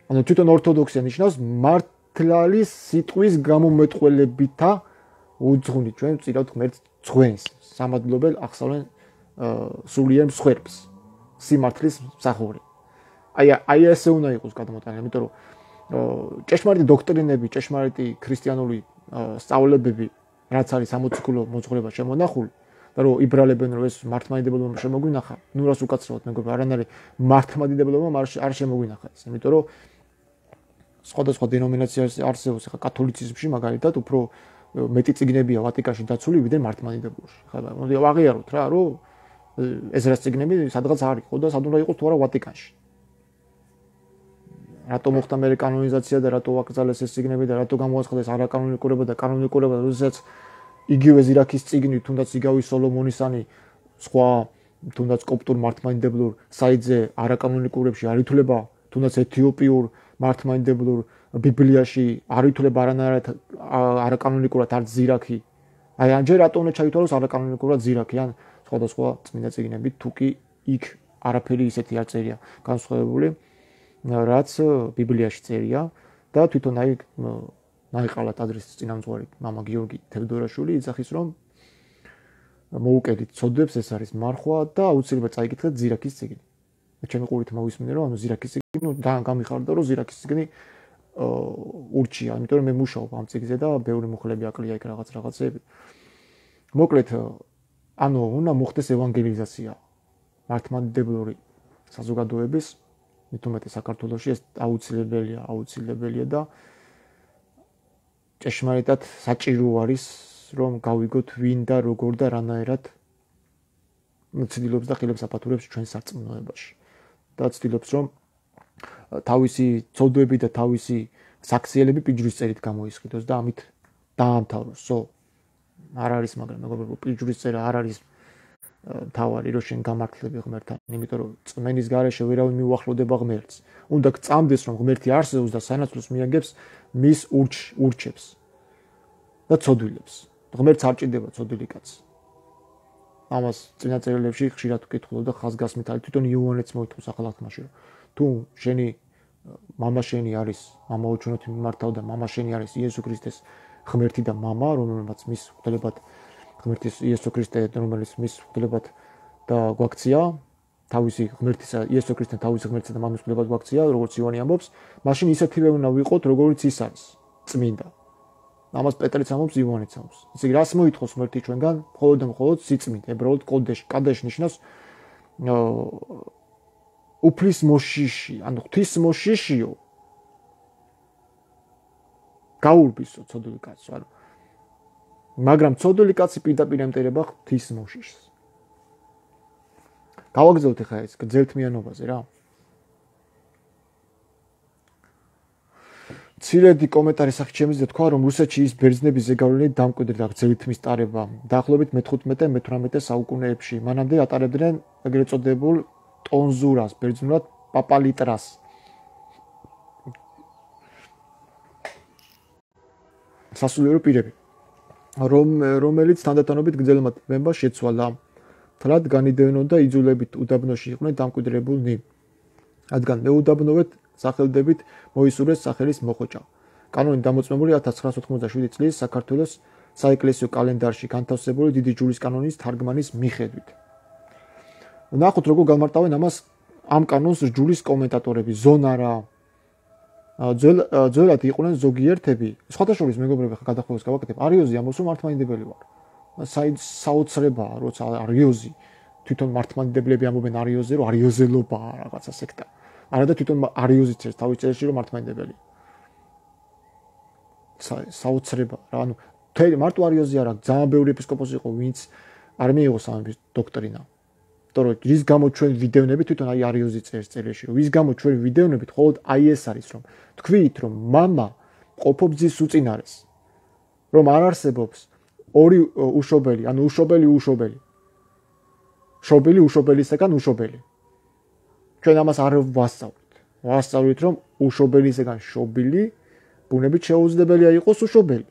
ანუ თვითონ ორთოდოქსია ნიშნავს მართლის სიტყვის გამომეტყველებითა უძღვნით ჩვენ ვწირავთ ღმერთს ძღვენს, სამადლობელ ახსავლენ სულიერ მსხვერპლს, სიმართლის მსახური. აი აი ესე უნდა იყოს გადამოტანილი, იმიტომ რომ ჭეშმარიტი დოქტრინები, ჭეშმარიტი ქრისტიანული სწავლებები, რაც არის სამოციქულო მოძღვრება შემონახული, და რომ იბრალებენ რომ ეს მართლმადიდებლობა შემოგვინახა, ნუ რას უკაცრავად მეგობრებო, არანაირი მართლმადიდებლობა არ შემოგვინახა ეს, იმიტომ რომ სხვადასხვა დინომინაცია არსებობს, ხა კათოლიციზმში მაგალითად უფრო მეტი წიგნებია ვატიკანში დაცული, ვიდრე მართლმადიდებლობაში. ხა მოდი ვაღიაროთ რა, რომ ეზრას წიგნები სადღაც არ იყო და სად უნდა იყოს თუ არა ვატიკანში. რატო მოხდა მე კანონიზაცია და რატო აკრძალეს ეს წიგნები და რატო გამოაცხადეს არაკანონიკურება და კანონიკურება, როდესაც იგივე ზირაქის წიგნი, თუნდაც იგავი სოლომონისანი, სხვა თუნდაც კოპტურ მართლმადიდებლურ საიტზე არაკანონიკურებში არ ითვლება, თუნდაც ეთიოპიურ მართლმადიდებლურ ბიბლიაში არ ითვლება არანაირად არაკანონიკურად არც ზირაქი. აი ამჯერ რატო უნდა ჩაითვალოს არაკანონიკურად ზირაქი, ან სხვადასხვა წმინდა წიგნები, თუ კი იქ არაფერი ისეთი არ წერია განსხვავებული, რაც ბიბლიაში წერია და თვითონ აი ნაიყალა ტაძრის წინამძღვარი მამა გიორგი თევდორაშვილი იძახის, რომ მოუკედით ცოდვებს, ეს არის მარხვა და აუცილებლად წაიკითხეთ ზირაქის წიგნი. ჩემი ყურით მოვისმინე, რომ ანუ ზირაქის წიგნი, ნუ გამიხარდა, რომ ზირაქის წიგნი ურჩია, იმიტომ რომ მე მუშაობ ამ წიგნზე და ბევრი მუხლები აკლია იქ რაღაც რაღაცები. მოკლედ, ანუ უნდა მოხდეს ევანგელიზაცია მართლმადიდებლური საზოგადოების, მით უმეტეს საქართველოში ეს აუცილებელია, აუცილებელია და ჭეშმარიტად საჭირო არის, რომ გავიგოთ ვინ და როგორ და რანაირად ცდილობს და ხილებს აფათურებს ჩვენ სარწმუნოებაში. და ცდილობს, რომ თავისი ცოდვები და თავისი საქციელები პიჯრის წერით გამოისყიდოს და ამით დაამთავროსო. არ არის, მაგრამ მეგობრებო, პიჯრის წერა არ არის თავარი, რომ შენ გამართლები ღმერთთან, იმიტომ რომ წმენის გარეშე ვერავინ მიუახლოვდება ღმერთს. უნდა გწამდეს, რომ ღმერთი არსებობს და სანაცვლოს მიაგებს მის ურჩებს და ცოდვილებს. ღმერთს არ ჭირდება ცოდვილი კაცი. ამას წინა წერილებში ხშირად ვკითხულობ და ხაზგასმით არის, თვითონ იოანეც მოითხოვს ახალ აღთქმაში, რომ თუ შენი მამა შენი არის, მამა უჩვენოთ მიმართავ და მამა შენი არის იესო ქრისტეს ღმერთი და მამა, რომელმაც მის ღვთაებად ღმერთის იესო ქრისტე, რომელიც მის ღვთაებად და გვაქცია, თავისი ღმერთისა იესო ქრისტე თავისი ღმერთისა და მამის ღვთაებად გვაქცია, როგორც იოანე ამბობს, მაშინ ისეთივე უნდა ვიყოთ, როგორც ის არის, წმინდა. ამას პეტრიც ამბობს, იოანეც ამბობს. ისე რას მოითხოვს ღმერთი ჩვენგან? მხოლოდ და მხოლოდ სიწმინდე, ებრაულად კოდეშ, კადეშ ნიშნავს უფლის მოშიში, ანუ ღვთის მოშიშიო. გაურბისო ცოდვილი კაცო, ანუ მაგრამ ცოდვილი კაცი პირდაპირ ემტერება ღვთის მოშიშს. გავაგზავნოთ ახლა ეს გრძელთმიანობაზე რა. ცირედი კომენტარი სახით შემიძლია თქვა, რომ რუსეთში ის ბერძნების ზეგავლენი დამკვიდრდა გრძელთმის ტარება დაახლოებით მეთერთმეტე მეთვრამეტე საუკუნეებში. მანამდე ატარებდნენ ეგრეთ წოდებულ ტონზურას, ბერძნულად პაპალიტრას. სასულიერო პირები, რომ რომელიც თანდათანობით გრძელმა თმებმა შეცვალა. თლად განიდევნონ და იძულებით უდაბნოში იყვნენ დამკვიდრებულნი. რადგან მეუდაბნოვეთ სახელდებით მოისურვეს სახელის მოხოჭა. კანონი დამოწმებული ათას ცხრაასი ოთხმოცდაშვიდი წლის საქართველოს საეკლესიო კალენდარში განთავსებული დიდი ჯვრის კანონის თარგმანის მიხედვით. ნახოთ როგორ გამარტავენ ამას ამ კანონს ჯვრის კომენტატორები ზონარა. ძველ ძველად იყვნენ ზოგიერთები, სხვათა შორის მეგობრები ხა გადახოვეს გავაკეთებ. არიოზი ამბობს რომ მართლმადიდებელი ვარ. საოცრებაა, როცა არიოზი თვითონ მართლმადიდებლები ამბობენ არიოზე, რომ არიოზელობაა რაღაცა სექტა. არა და თვითონ არიოზი წერს თავის წერილში რომ მართლმადიდებელი. საოცრება რა, ანუ თელი მარტო არიოზი არა, ძალიან ბევრი ეპისკოპოსი იყო, ვინც არ მიიღო სამების დოქტრინა. იმიტომ რომ რის გამო ჩვენ ვიდევნებით თვითონ აი არიოზი წერს წერილში, რომ ვის გამო ჩვენ ვიდევნებით, მხოლოდ აი ეს არის, რომ თქვით, რომ მამა ყოფობს ძის უწინარეს, რომ არ არსებობს ორი უშობელი, ანუ უშობელი უშობელი. შობილი უშობელისაგან უშობელი. ჩვენ ამას არ ვასწავლით. ვასწავლით, რომ უშობელისაგან შობილი ბუნებით შეუძლებელია იყოს უშობელი.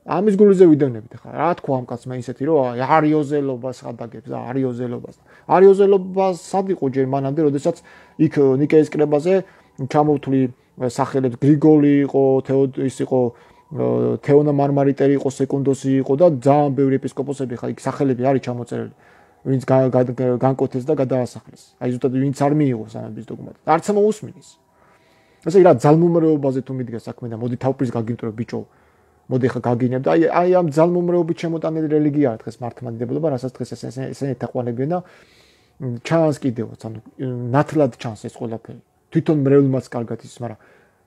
ამის გულზე ვიდევნებით ხა. რა თქვა ამ კაცმა ისეთი, რომ არიოზელობას ხადაგებს და არიოზელობას. არიოზელობას სად იყო ჯერ მანამდე, როდესაც იქ ნიკეის კრებაზე ჩამოვთვლი სახელებს გრიგოლი იყო, თეოდოსი იყო, თეონა მარმარიტერი იყო, სეკუნდოსი იყო და ძალიან ბევრი ეპისკოპოსები ხა იქ სახელები არის ჩამოწერილი. ვინც განკვეთეს და გადაასახლეს. აი ზუსტად ვინც არ მიიღო სამების დოგმატს. არც მოусმინის. ესე იგი რა ძალმომრეობაზე თუ მიდგა საქმე და მოდი თავპრის გაგიმტრო ბიჭო. მოდი ხა გაგინებ და აი აი ამ ძალმომრეობით შემოტანილი რელიგია არის დღეს მართლმადიდებლობა, რასაც დღეს ესენი ეთაყვანებიან და ჩანს კიდევაც, ანუ ნათლად ჩანს ეს ყველაფერი. თვითონ მრევლმაც კარგად ის, მაგრამ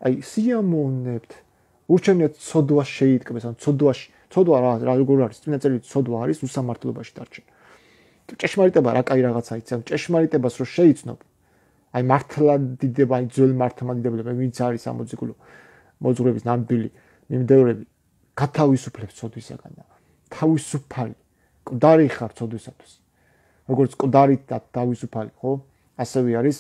აი სიამოვნებთ. ურჩევნიათ ცოდვა შეიტკბეს, ანუ ცოდვაში, ცოდვა რა რა როგორ არის? წინა წელი ცოდვა არის უსამართლობაში დარჩენ. ჭეშმარიტება რა კაი რაღაცა იცი, ანუ ჭეშმარიტებას რო შეიცნობ. აი მართლმადიდება, აი ძველ მართლმადიდებლები, ვინც არის ამოძიგულო მოძღვრების ნამდვილი მიმდევრები, გათავისუფლებს ცოდვისაგან და თავისუფალი, მკვდარი ხარ ცოდვისათვის. როგორც მკვდარით და თავისუფალი, ხო? ასევე არის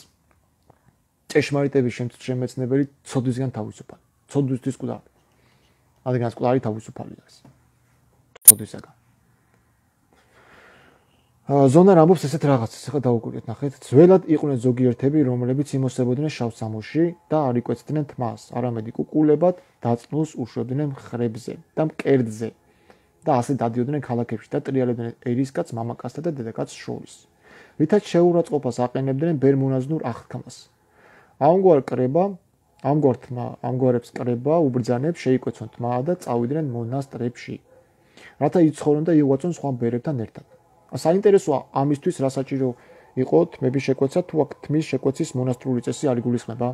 ჭეშმარიტების შემეცნებელი ცოდვისგან თავისუფალი. ცოდვისთვის მკვდარი. რადგან მკვდარი თავისუფალი არის. ცოდვისაგან. ზონარ ამბობს ესეთ რაღაცას, ახლა დავუკვირდეთ, ნახეთ, ძველად იყვნენ ზოგიერთები, რომლებიც იმოსებოდნენ შავ სამოში და არ იკვეცდნენ თმას, არამედ კუკულებად დაწნულს უშვებდნენ მხრებზე და მკერდზე და ასე დადიოდნენ ქალაქებში და ტრიალებდნენ ერისკაც, მამაკაცსა და დედაკაცს შორის. რითაც შეურაცხყოფას აყენებდნენ ბერმონაზნურ აღთქმას. ამგვარ კრება, ამგვარ თმა, ამგვარებს კრება უბრძანებს შეიკვეცონ თმა და წავიდნენ მონასტრებში. რათა იცხოვრონ და იღვაწონ სხვა ბერებთან ერთად. საინტერესოა ამისთვის რა საჭირო იყო თმების შეკვეცა, თუ აქ თმის შეკვეცის მონასტრული წესი არ იგულისხმება?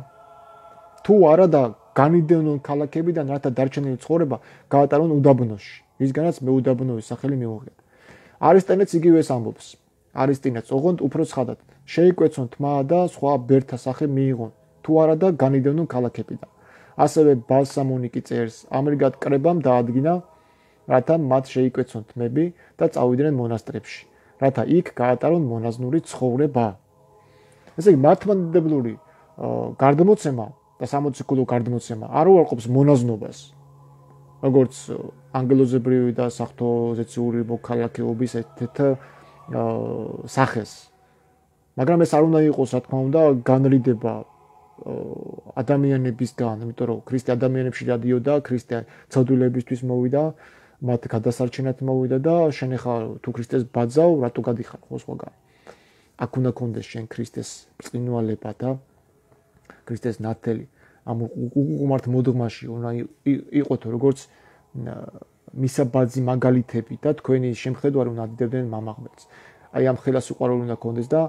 თუ არა და განიდევნონ ქალაქებიდან, რათა დარჩენილი ცხოვრება გაატარონ უდაბნოში, რისგანაც მეუდაბნოვის სახელი მიუღია. არისტენეც იგივე ამბობს. არისტინეც ოღონდ უფრო ცხადად შეიკვეცონ თმა და სხვა ბერთა სახე მიიღონ, თუ არა და განიდევნონ ქალაქებიდან. ასევე ბალსამონიკი წერს, ამრიგად კრებამ დაადგინა, რათა მათ შეიკვეცონ თმები და წავიდნენ მონასტრებში, რათა იქ გაატარონ მონაზნური ცხოვრება. ესე იგი მართლმადიდებლური გარდამოცემა და სამოციქულო გარდამოცემა არ უარყოფს მონაზნობას, როგორც ანგელოზებრივი და საღვთო-ზეციური მოქალაქეობის ერთ-ერთ სახეს. მაგრამ ეს არ უნდა იყოს, რა თქმა უნდა, განრიდება ადამიანებისგან, იმიტომ რომ ქრისტე ადამიანებში დადიოდა, ქრისტე ცოდვილებისთვის მოვიდა, მათ გადასარჩენად მოვიდა და შენ ხარ თუ ქრისტეს ბაძავ, რატო გადიხარ ხო სხვაგან? აქ უნდა კონდეს შენ ქრისტეს წინვალება და ქრისტეს ნათელი. ამ უყუმართ მოდღმაში უნდა იყოთ როგორც მისაბაძი მაგალითები და თქვენი შემხედვარი უნდა დიდებდნენ მამაღმერთს. აი ამ ხელას უყარული უნდა კონდეს და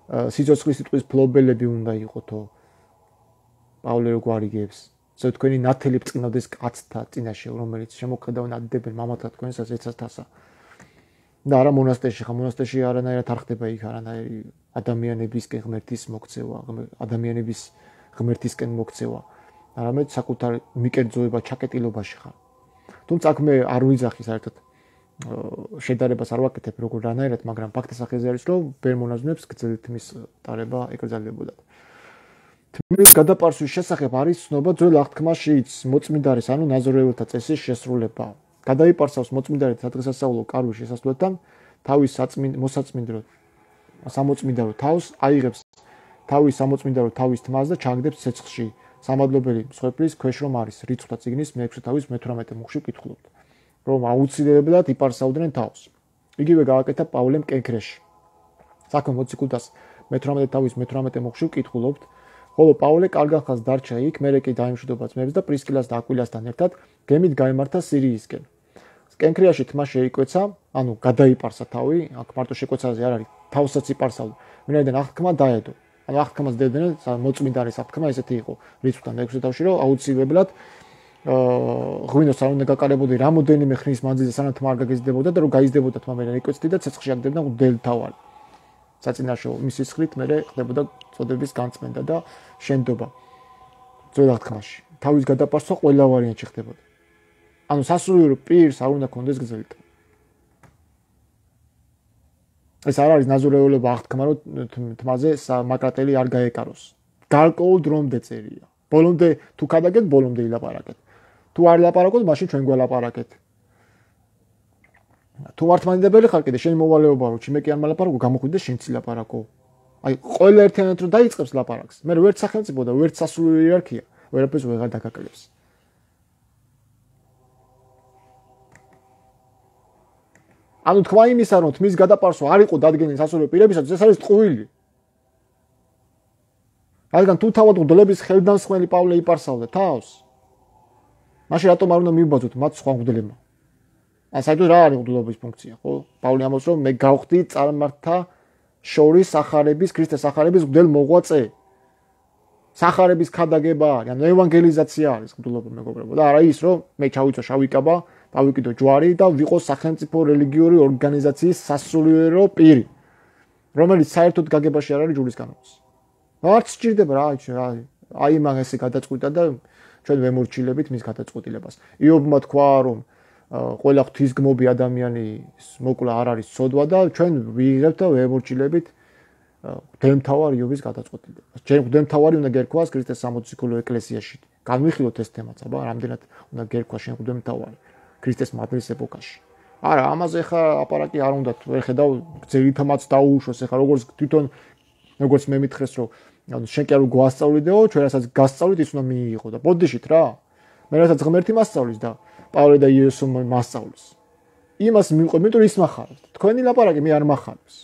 სიცოცხლის სიტყვის ფლობელები უნდა იყოთო. პავლე რო გვარიგებს, ზოგ თქვენი ნათელი ბრწყინავდეს კაცთა წინაშე, რომელიც შემოქმედავენ ადიდებენ მამათა თქვენსაც ეცასთასა. და არა მონასტერში, ხა მონასტერში არანაირად არ ხდება იქ არანაირი ადამიანებისკენ ღმერთის მოქცევა, ადამიანების ღმერთისკენ მოქცევა. არამედ საკუთარ მიკერძოება ჩაკეტილობაში ხარ. თუმცა აქ მე არ ვიძახი საერთოდ შედარებას არ ვაკეთებ როგორ რანაირად, მაგრამ ფაქტის სახეზე არის, რომ ბერ მონაზვნებს გრძელი თმის ტარება ეკრძალებოდათ. თმის გადაპარსვის შესახებ არის ცნობა ძველ აღთქმაშიც, მოწმინდარის, ანუ ნაზორეელთა წესის შესრულება. გადაიპარსავს მოწმინდარი სადღესასწაულო კარვის შესასვლელთან, თავის მოსაწმინდრო სამოწმინდარო თავს აიღებს თავის სამოწმინდარო თავის თმას და ჩანგდებს ცეცხლში. სამადლობელი მსხვერპლის ქვეშ რომ არის რიცხვთა წიგნის მეექვსე თავის მეთვრამეტე მუხში ვკითხულობთ, რომ აუცილებლად იპარსავდნენ თავს. იგივე გააკეთა პავლემ კენქრეში. საქმე მოციქულთას მეთვრამეტე თავის მეთვრამეტე მუხში ვკითხულობთ, ხოლო პავლე კარგად ხანს დარჩა იქ, მერე კი დაიმშვიდობა ძმებს და პრისკილას და აკვილასთან ერთად გემით გაემართა სირიისკენ. კენქრიაში თმა შეიკვეცა, ანუ გადაიპარსა თავი, აქ მარტო შეკვეცაზე არ არის, თავსაც იპარსავდა. ვინაიდან აღთქმა დაედო. ანუ აღთქმას დებდნენ, მოწმინდარის აღთქმა ესეთი იყო, რიცხვთან მეექვსე თავში, რომ აუცილებლად ღვინოს არ უნდა გაკარებოდი რამოდენიმე ხნის მანძილზე, სანამ თმა არ გაგეზდებოდა და რომ გაიზდებოდა თმა მერე იკვეცდი და ცეცხლში აგდებდა მღვდელი თავარი. საწინაშო მისი სხრით მერე ხდებოდა წოდების განწმენდა და შენდობა ძველ აღთქმაში. თავის გადაპარსვა ყველა ვარიანტში ხდებოდა. ანუ სასულიერო პირს არ უნდა კონდეს გრძელი თმა. ეს არ არის ნაზორეულობა აღთქმა, რომ თმაზე მაკრატელი არ გაეკაროს. გარკვეულ დრომდე წერია. ბოლომდე თუ ქადაგეთ, ბოლომდე ილაპარაკეთ. თუ არ ლაპარაკოთ, მაშინ ჩვენ გველაპარაკეთ. თუ მართლმადიდებელი ხარ კიდე, შენი მოვალეობა რო ჩიმე კი არ მალაპარაკო, გამოხვიდე და შენც ილაპარაკო. აი, ყველა ერთიანად რო დაიწყებს ლაპარაკს, მე ვერც სახელმწიფო და ვერც სასულიერო იერარქია, ვერაფერს ვეღარ დაგაკლებს. ანუ თქვა იმისა, რომ თმის გადაპარსვა არ იყო დადგენილი სასულიერო პირებისათვის, ეს არის ტყუილი. რადგან თუ თავად მღვდლების ხელდამსხმელი პავლე იპარსავდა თავს, მაშინ რატომ არ უნდა მიუბაძოთ მათ სხვა მღვდლებმა? ან საერთოდ რა არის მღვდლობის ფუნქცია, ხო? პავლე ამბობს, რომ მე გავხდი წარმართა შორის სახარების, ქრისტეს სახარების მღვდელ მოღვაწე. სახარების ქადაგება არის, ანუ ევანგელიზაცია არის მღვდლობა, მეგობრებო. და არა ის, რომ მე ჩავიწვა შავი კაბა, დავიკიდო ჯვარი და ვიყო სახელმწიფო რელიგიური ორგანიზაციის სასულიერო პირი, რომელიც საერთოდ გაგებაში არ არის ჯურის განმავლს. არც სჭირდება რა, აი მაგ ესე გადაწყვიტა და ჩვენ ვემორჩილებით მის გადაწყვეტილებას. იობმა თქვა, რომ ყველა ღვთისგმობი ადამიანის მოკლა არ არის ცოდვა და ჩვენ ვიღებთ და ვემორჩილებით მღვდელმთავარ იობის გადაწყვეტილებას. ჩვენ მღვდელმთავარი უნდა გერქვას ქრისტეს სამოციქულო ეკლესიაში. განვიხილოთ ეს თემაც, აბა, რამდენად უნდა გერქვა შენ მღვდელმთავარი ქრისტეს მადლის ეპოქაში. არა, ამაზე ხა აპარატი არ უნდა, ვერ ხედავ ძირითამაც დაუშვოს, ეხა როგორც თვითონ როგორც მე მითხრეს, რომ ანუ შენ კი არ გვასწავლიდეო, ჩვენ რასაც გასწავლით, ის უნდა მიიღო და ბოდიშით რა. მე რასაც ღმერთი მასწავლის და პავლე და იესო მასწავლის. იმას მიყვე, იმიტომ ის מחარებს. თქვენი ლაპარაკი მე არ מחარებს.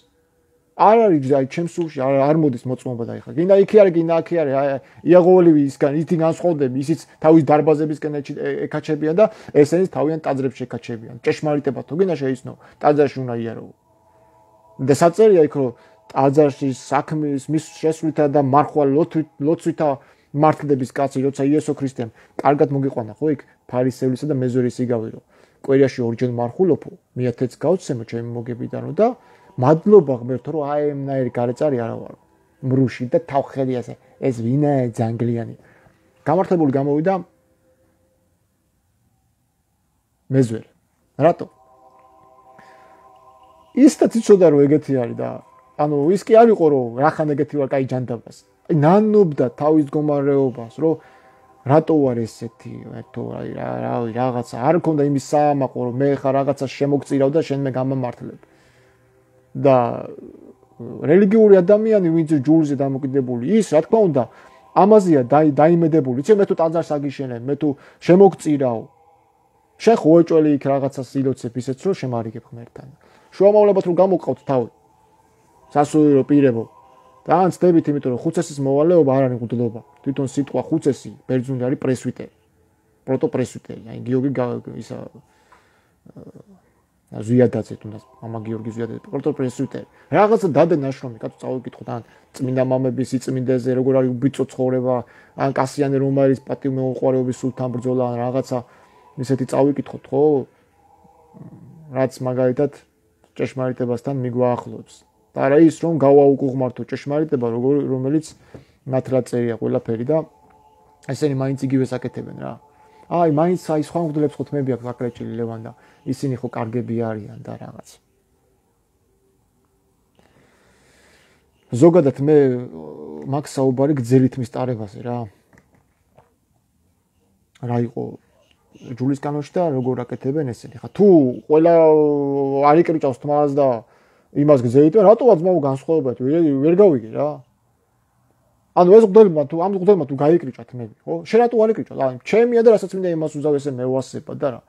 არ არის აი ჩემს სულში არ არ მოდის მოწმობა და ეხლა. გინდა იქი არის, გინდა აქი არის, აი იაღოველივისგან ითი განსხვავდები, ისიც თავის დარბაზებისკენ ეკაჩებიან და ესენიც თავიანთ ტაძრებში ეკაჩებიან. ჭეშმარიტება თუ გინდა შეიცნო, ტაძარში უნდა იარო. და საწერია იქ რომ ტაძარში საქმის მის შესრულთა და მარხვალ ლოცვითა მართლდების კაცი, როცა იესო ქრისტემ კარგად მოგიყვანა, ხო იქ ფარისევლისა და მეზორის იგავი რომ კვირაში ორჯერ მარხულობო, მეათეც გავცემო ჩემი მოგებიდანო და მადლობა ღმერთო, რომ აი ემნაირი გარეწარი არა ვარ. მრუში და თავხელი ასე, ეს ვინაა ძანგლიანი. გამართლებული გამოვიდა მეზვერ. რატო? ისიც იცოდა რომ ეგეთი არის და ანუ ის კი არ იყო რომ რახან ეგეთი ვარ, კაი ჯანდაბას. აი ნანობდა თავის მდგომარეობას, რომ რატო ვარ ესეთი, ერთო აი რა რავი რაღაცა არ მქონდა იმის საამაყო, რომ მე ხა რაღაცა შემოგწირავ და შენ მე გამამართლებ. და რელიგიური ადამიანი, ვინც ჯულზე დამოკიდებული, ის რა თქმა უნდა, ამაზეა დაიმედებული. იცი მე თუ ტაძარს აგიშენებ, მე თუ შემოგწირავ. შენ ხო ეჭველი იქ რაღაცას ილოცებ ისეც რომ შემარიგებ ღმერთთან. შუამავლებად რომ გამოვყავთ თავი. სასულიერო პირებო. და ან ცდებით, იმიტომ რომ ხუცესის მოვალეობა არ არის მღვდლობა. თვითონ სიტყვა ხუცესი ბერძნული არის პრესვიტერი. პროტოპრესვიტერი. აი გიორგი ისა ზვიადაძე თუნდაც მამა გიორგი ზვიადაძე პროკტორ პრესვიტერი რაღაცა დადე ნაშრომი კაცო წავიკითხოთ ან წმინდა მამების სიწმინდეზე როგორ არის უბიწო ცხოვრება ან კასიანე რომ არის პატივმოუყარეობის სულთან ბრძოლა ან რაღაცა ისეთი წავიკითხოთ ხო რაც მაგალითად ჭეშმარიტებასთან მიგვაახლოვებს და არა ის რომ გავაუკუღმართო ჭეშმარიტება რომელიც ნათლად წერია ყველაფერი და ესენი მაინც იგივე საკეთებენ რა აი მაინც აი სხვა მგლებს ხო თმები აქვს აკრეჭილი ლევან და ისინი ხო კარგები არიან და რაღაც ზოგადად მე მაგ საუბარი გძელით მისტარებაზე რა რა იყო ჯულის კანონში და როგორ აკეთებენ ესენი ხა თუ ყველა არ იკრიჭავს თმას და იმას გძელით რატოა ძმაო განსხვავებათ ვერ გავიგე რა ანუ ეს მგდელმა თუ ამ მგდელმა თუ გაიკრიჭა თმები ხო შენ რატო არ იკრიჭა აი ჩემია და რასაც მინდა იმას უზავ ესე მევასება და რა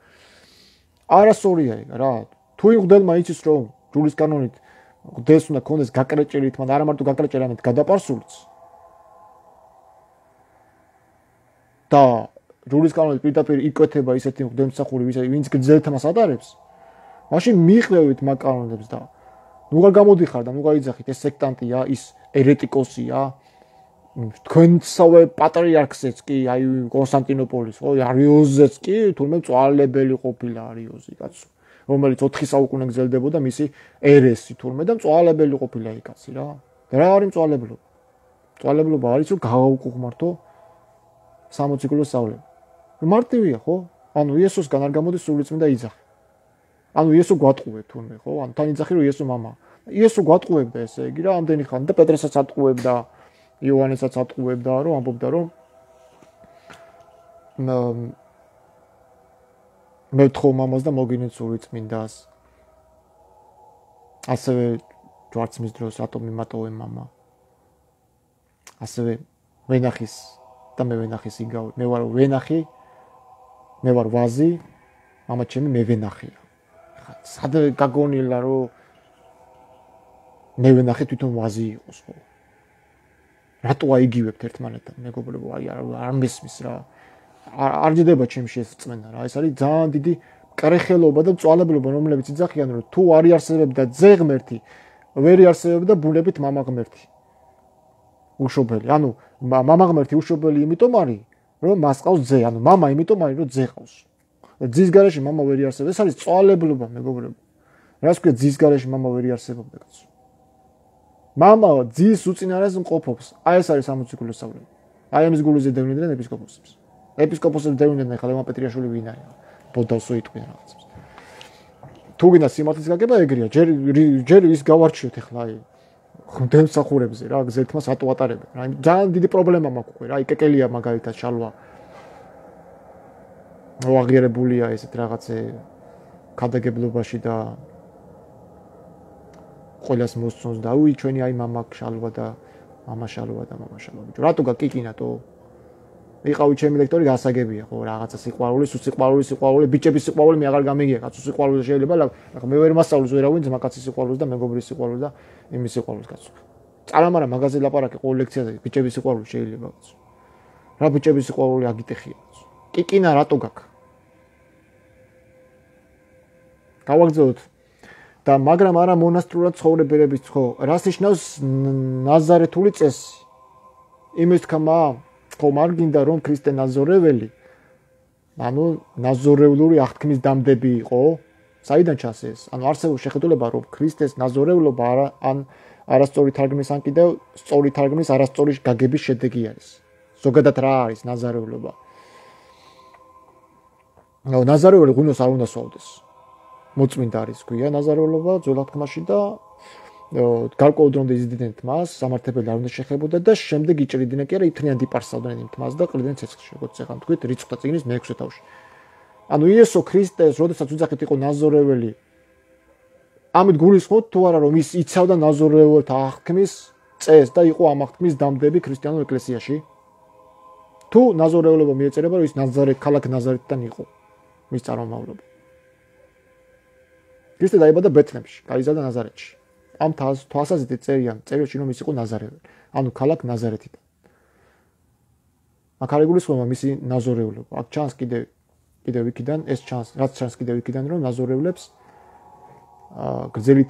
არასწორია ეგ რა თუ იმ მგდელმა იცის რომ ჯულის კანონით მგდელს უნდა კონდეს გაკრეჭილი თმა და არა მარტო გაკრეჭილი ამით გადაპარსულიც და ჯულის კანონით პირდაპირ იკვეთება ისეთი მგდელმსახური ვინც გძელთმას ატარებს მაშინ მიყვევით მაგ კანონებს და ნუ არ გამოდიხარ და ნუ გაიძახით ეს სექტანტია ის ერეტიკოსია თქვენსავე პატრიარქსაც კი აი კონსტანტინოპოლის ხო არიოზეც კი თურმე მწვალებელი ყოფილა არიოზი კაცო რომელიც ოთხი საუკუნე გრძელდებოდა მისი ერესი თურმე და მწვალებელი ყოფილა იქ კაცი რა და რა არის მწვალებლობა მწვალებლობა არის რომ გავაუკუღმართო სამოცი კილოს სწავლება მარტივია ხო ანუ იესოსგან არ გამოდის სულიწმინდა იძახი ანუ იესო გვატყუებ თურმე ხო ანუ თან იძახი რომ იესო მამა იესო გვატყუებდა ესე იგი რა ამდენი ხანი და პეტრესაც ატყუებდა იოანესაც ატყუებდა რომ ამბობდა რომ მე თქო მამას და მოგინეთ სულიწმინდას ასევე ჯვარცმის დროს რატომ მიმატოვე მამა ასევე ვენახის და მე ვენახის იგავ მე ვარ ვენახი მე ვარ ვაზი მამა ჩემი მე ვენახია ხა სად გაგონილა რომ მე ვენახი თვითონ ვაზი იყოს ხო რატო აიგივებთ ერთმანეთთან მეგობრებო აი არ მესმის რა არ ჯდება ჩემში ეს წმენა რა ეს არის ძალიან დიდი კრეხელობა და მწვალებლობა რომლებიც იძახიან რომ თუ არ იარსებებდა ძე ღმერთი ვერ იარსებებდა ბუნებით მამა ღმერთი უშობელი ანუ მამა ღმერთი უშობელი იმიტომ არის რომ მას ყავს ძე ანუ მამა იმიტომ არის რომ ძე ყავს ძის გარეშე მამა ვერ იარსებდა ეს არის მწვალებლობა მეგობრებო რას ქვია ძის გარეშე მამა ვერ იარსებობდა კაცო მამა ძის უწინარეს მყოფობს აი ეს არის სამოცი კილოს სწავლება აი ამის გულზე დევნიდნენ ეპისკოპოსებს ეპისკოპოსებს დევნიდნენ ხა ლევან პეტრიაშვილი ვინ არის ბოდავსო იტყვიან რაღაცებს თუ გინდა სიმართლის გაგება ეგრეა ჯერ ჯერ ის გავარჩიოთ ახლა აი მგდელმსახურებზე რა გზელთმას რატო ატარებენ რა ძალიან დიდი პრობლემა მაქვს უკვე რა იკეკელია მაგალითად შალვა აღიარებულია ესეთ რაღაცე ქადაგებლობაში და ყველას მოსწონს და უი ჩვენი აი მამა შალვა და მამა შალვა და მამა შალვა ბიჭო რატო გაკიკინატო იყავი ჩემი ლექტორი გასაგებია ხო რაღაცა სიყვარული სიყვარული სიყვარული ბიჭების სიყვარული მე აღარ გამიგია კაცო სიყვარული შეიძლება ახლა მე ვერ მასწავლოს ვერავინ ძმაკაცის სიყვარულს და მეგობრის სიყვარულს და იმის სიყვარულს კაცო წარამარა მაგაზე ლაპარაკი ყოველ ლექციაზე ბიჭების სიყვარული შეიძლება კაცო რა ბიჭების სიყვარული აგიტეხია კაცო კიკინა რატო გაქვს გავაგზავნოთ და მაგრამ არა მონასტრულად ცხოვრებების ხო რას ნიშნავს ნაზარეთული წესი იმის თქმა ხო მარგინდა რომ ქრისტე ნაზორეველი ანუ ნაზორევლური აღთქმის დამდები იყო საიდან ჩანს ეს ანუ არსებობს შეხედულება რომ ქრისტეს ნაზორევლობა არა ან არასწორი თარგმნის ან კიდევ სწორი თარგმნის არასწორი გაგების შედეგი არის ზოგადად რა არის ნაზარევლობა ნო ნაზარეველი ღვინოს არ უნდა სვავდეს მოწმინდა არის ქვია ნაზარევლობა ძველ აღთქმაში და გარკვეულ დრომდე იზრდნენ თმას, სამართებელი არ უნდა შეხებოდა და შემდეგ იჭრიდნენ კი არა ითრიან დიპარსავდნენ იმ თმას და ყრიდნენ ცეცხლში, როგორც ეხან თქვით რიცხვთა წიგნის მეექვსე თავში. ანუ იესო ქრისტეს, როდესაც უძახით იყო ნაზორეველი, ამით გულისხმობთ თუ არა რომ ის იცავდა ნაზორეველთა აღთქმის წესს და იყო ამ აღთქმის დამდები ქრისტიანულ ეკლესიაში? თუ ნაზორეველობა მიეწერება რომ ის ნაზარეთ ქალაქ ნაზარეთთან იყო მის წარმომავლობა. ქრისტე დაიბადა ბეთლემში, გაიზარდა ნაზარეთში. ამ თვალსაზრისით წერიან წერილში რომ ის იყო ნაზარეველი, ანუ ქალაქ ნაზარეთიდან. აქ არის გულისხმობა მისი ნაზორევლობა. აქ ჩანს კიდე კიდევ იქიდან ეს ჩანს, რაც ჩანს კიდევ იქიდან რომ ნაზორევლებს გრძელი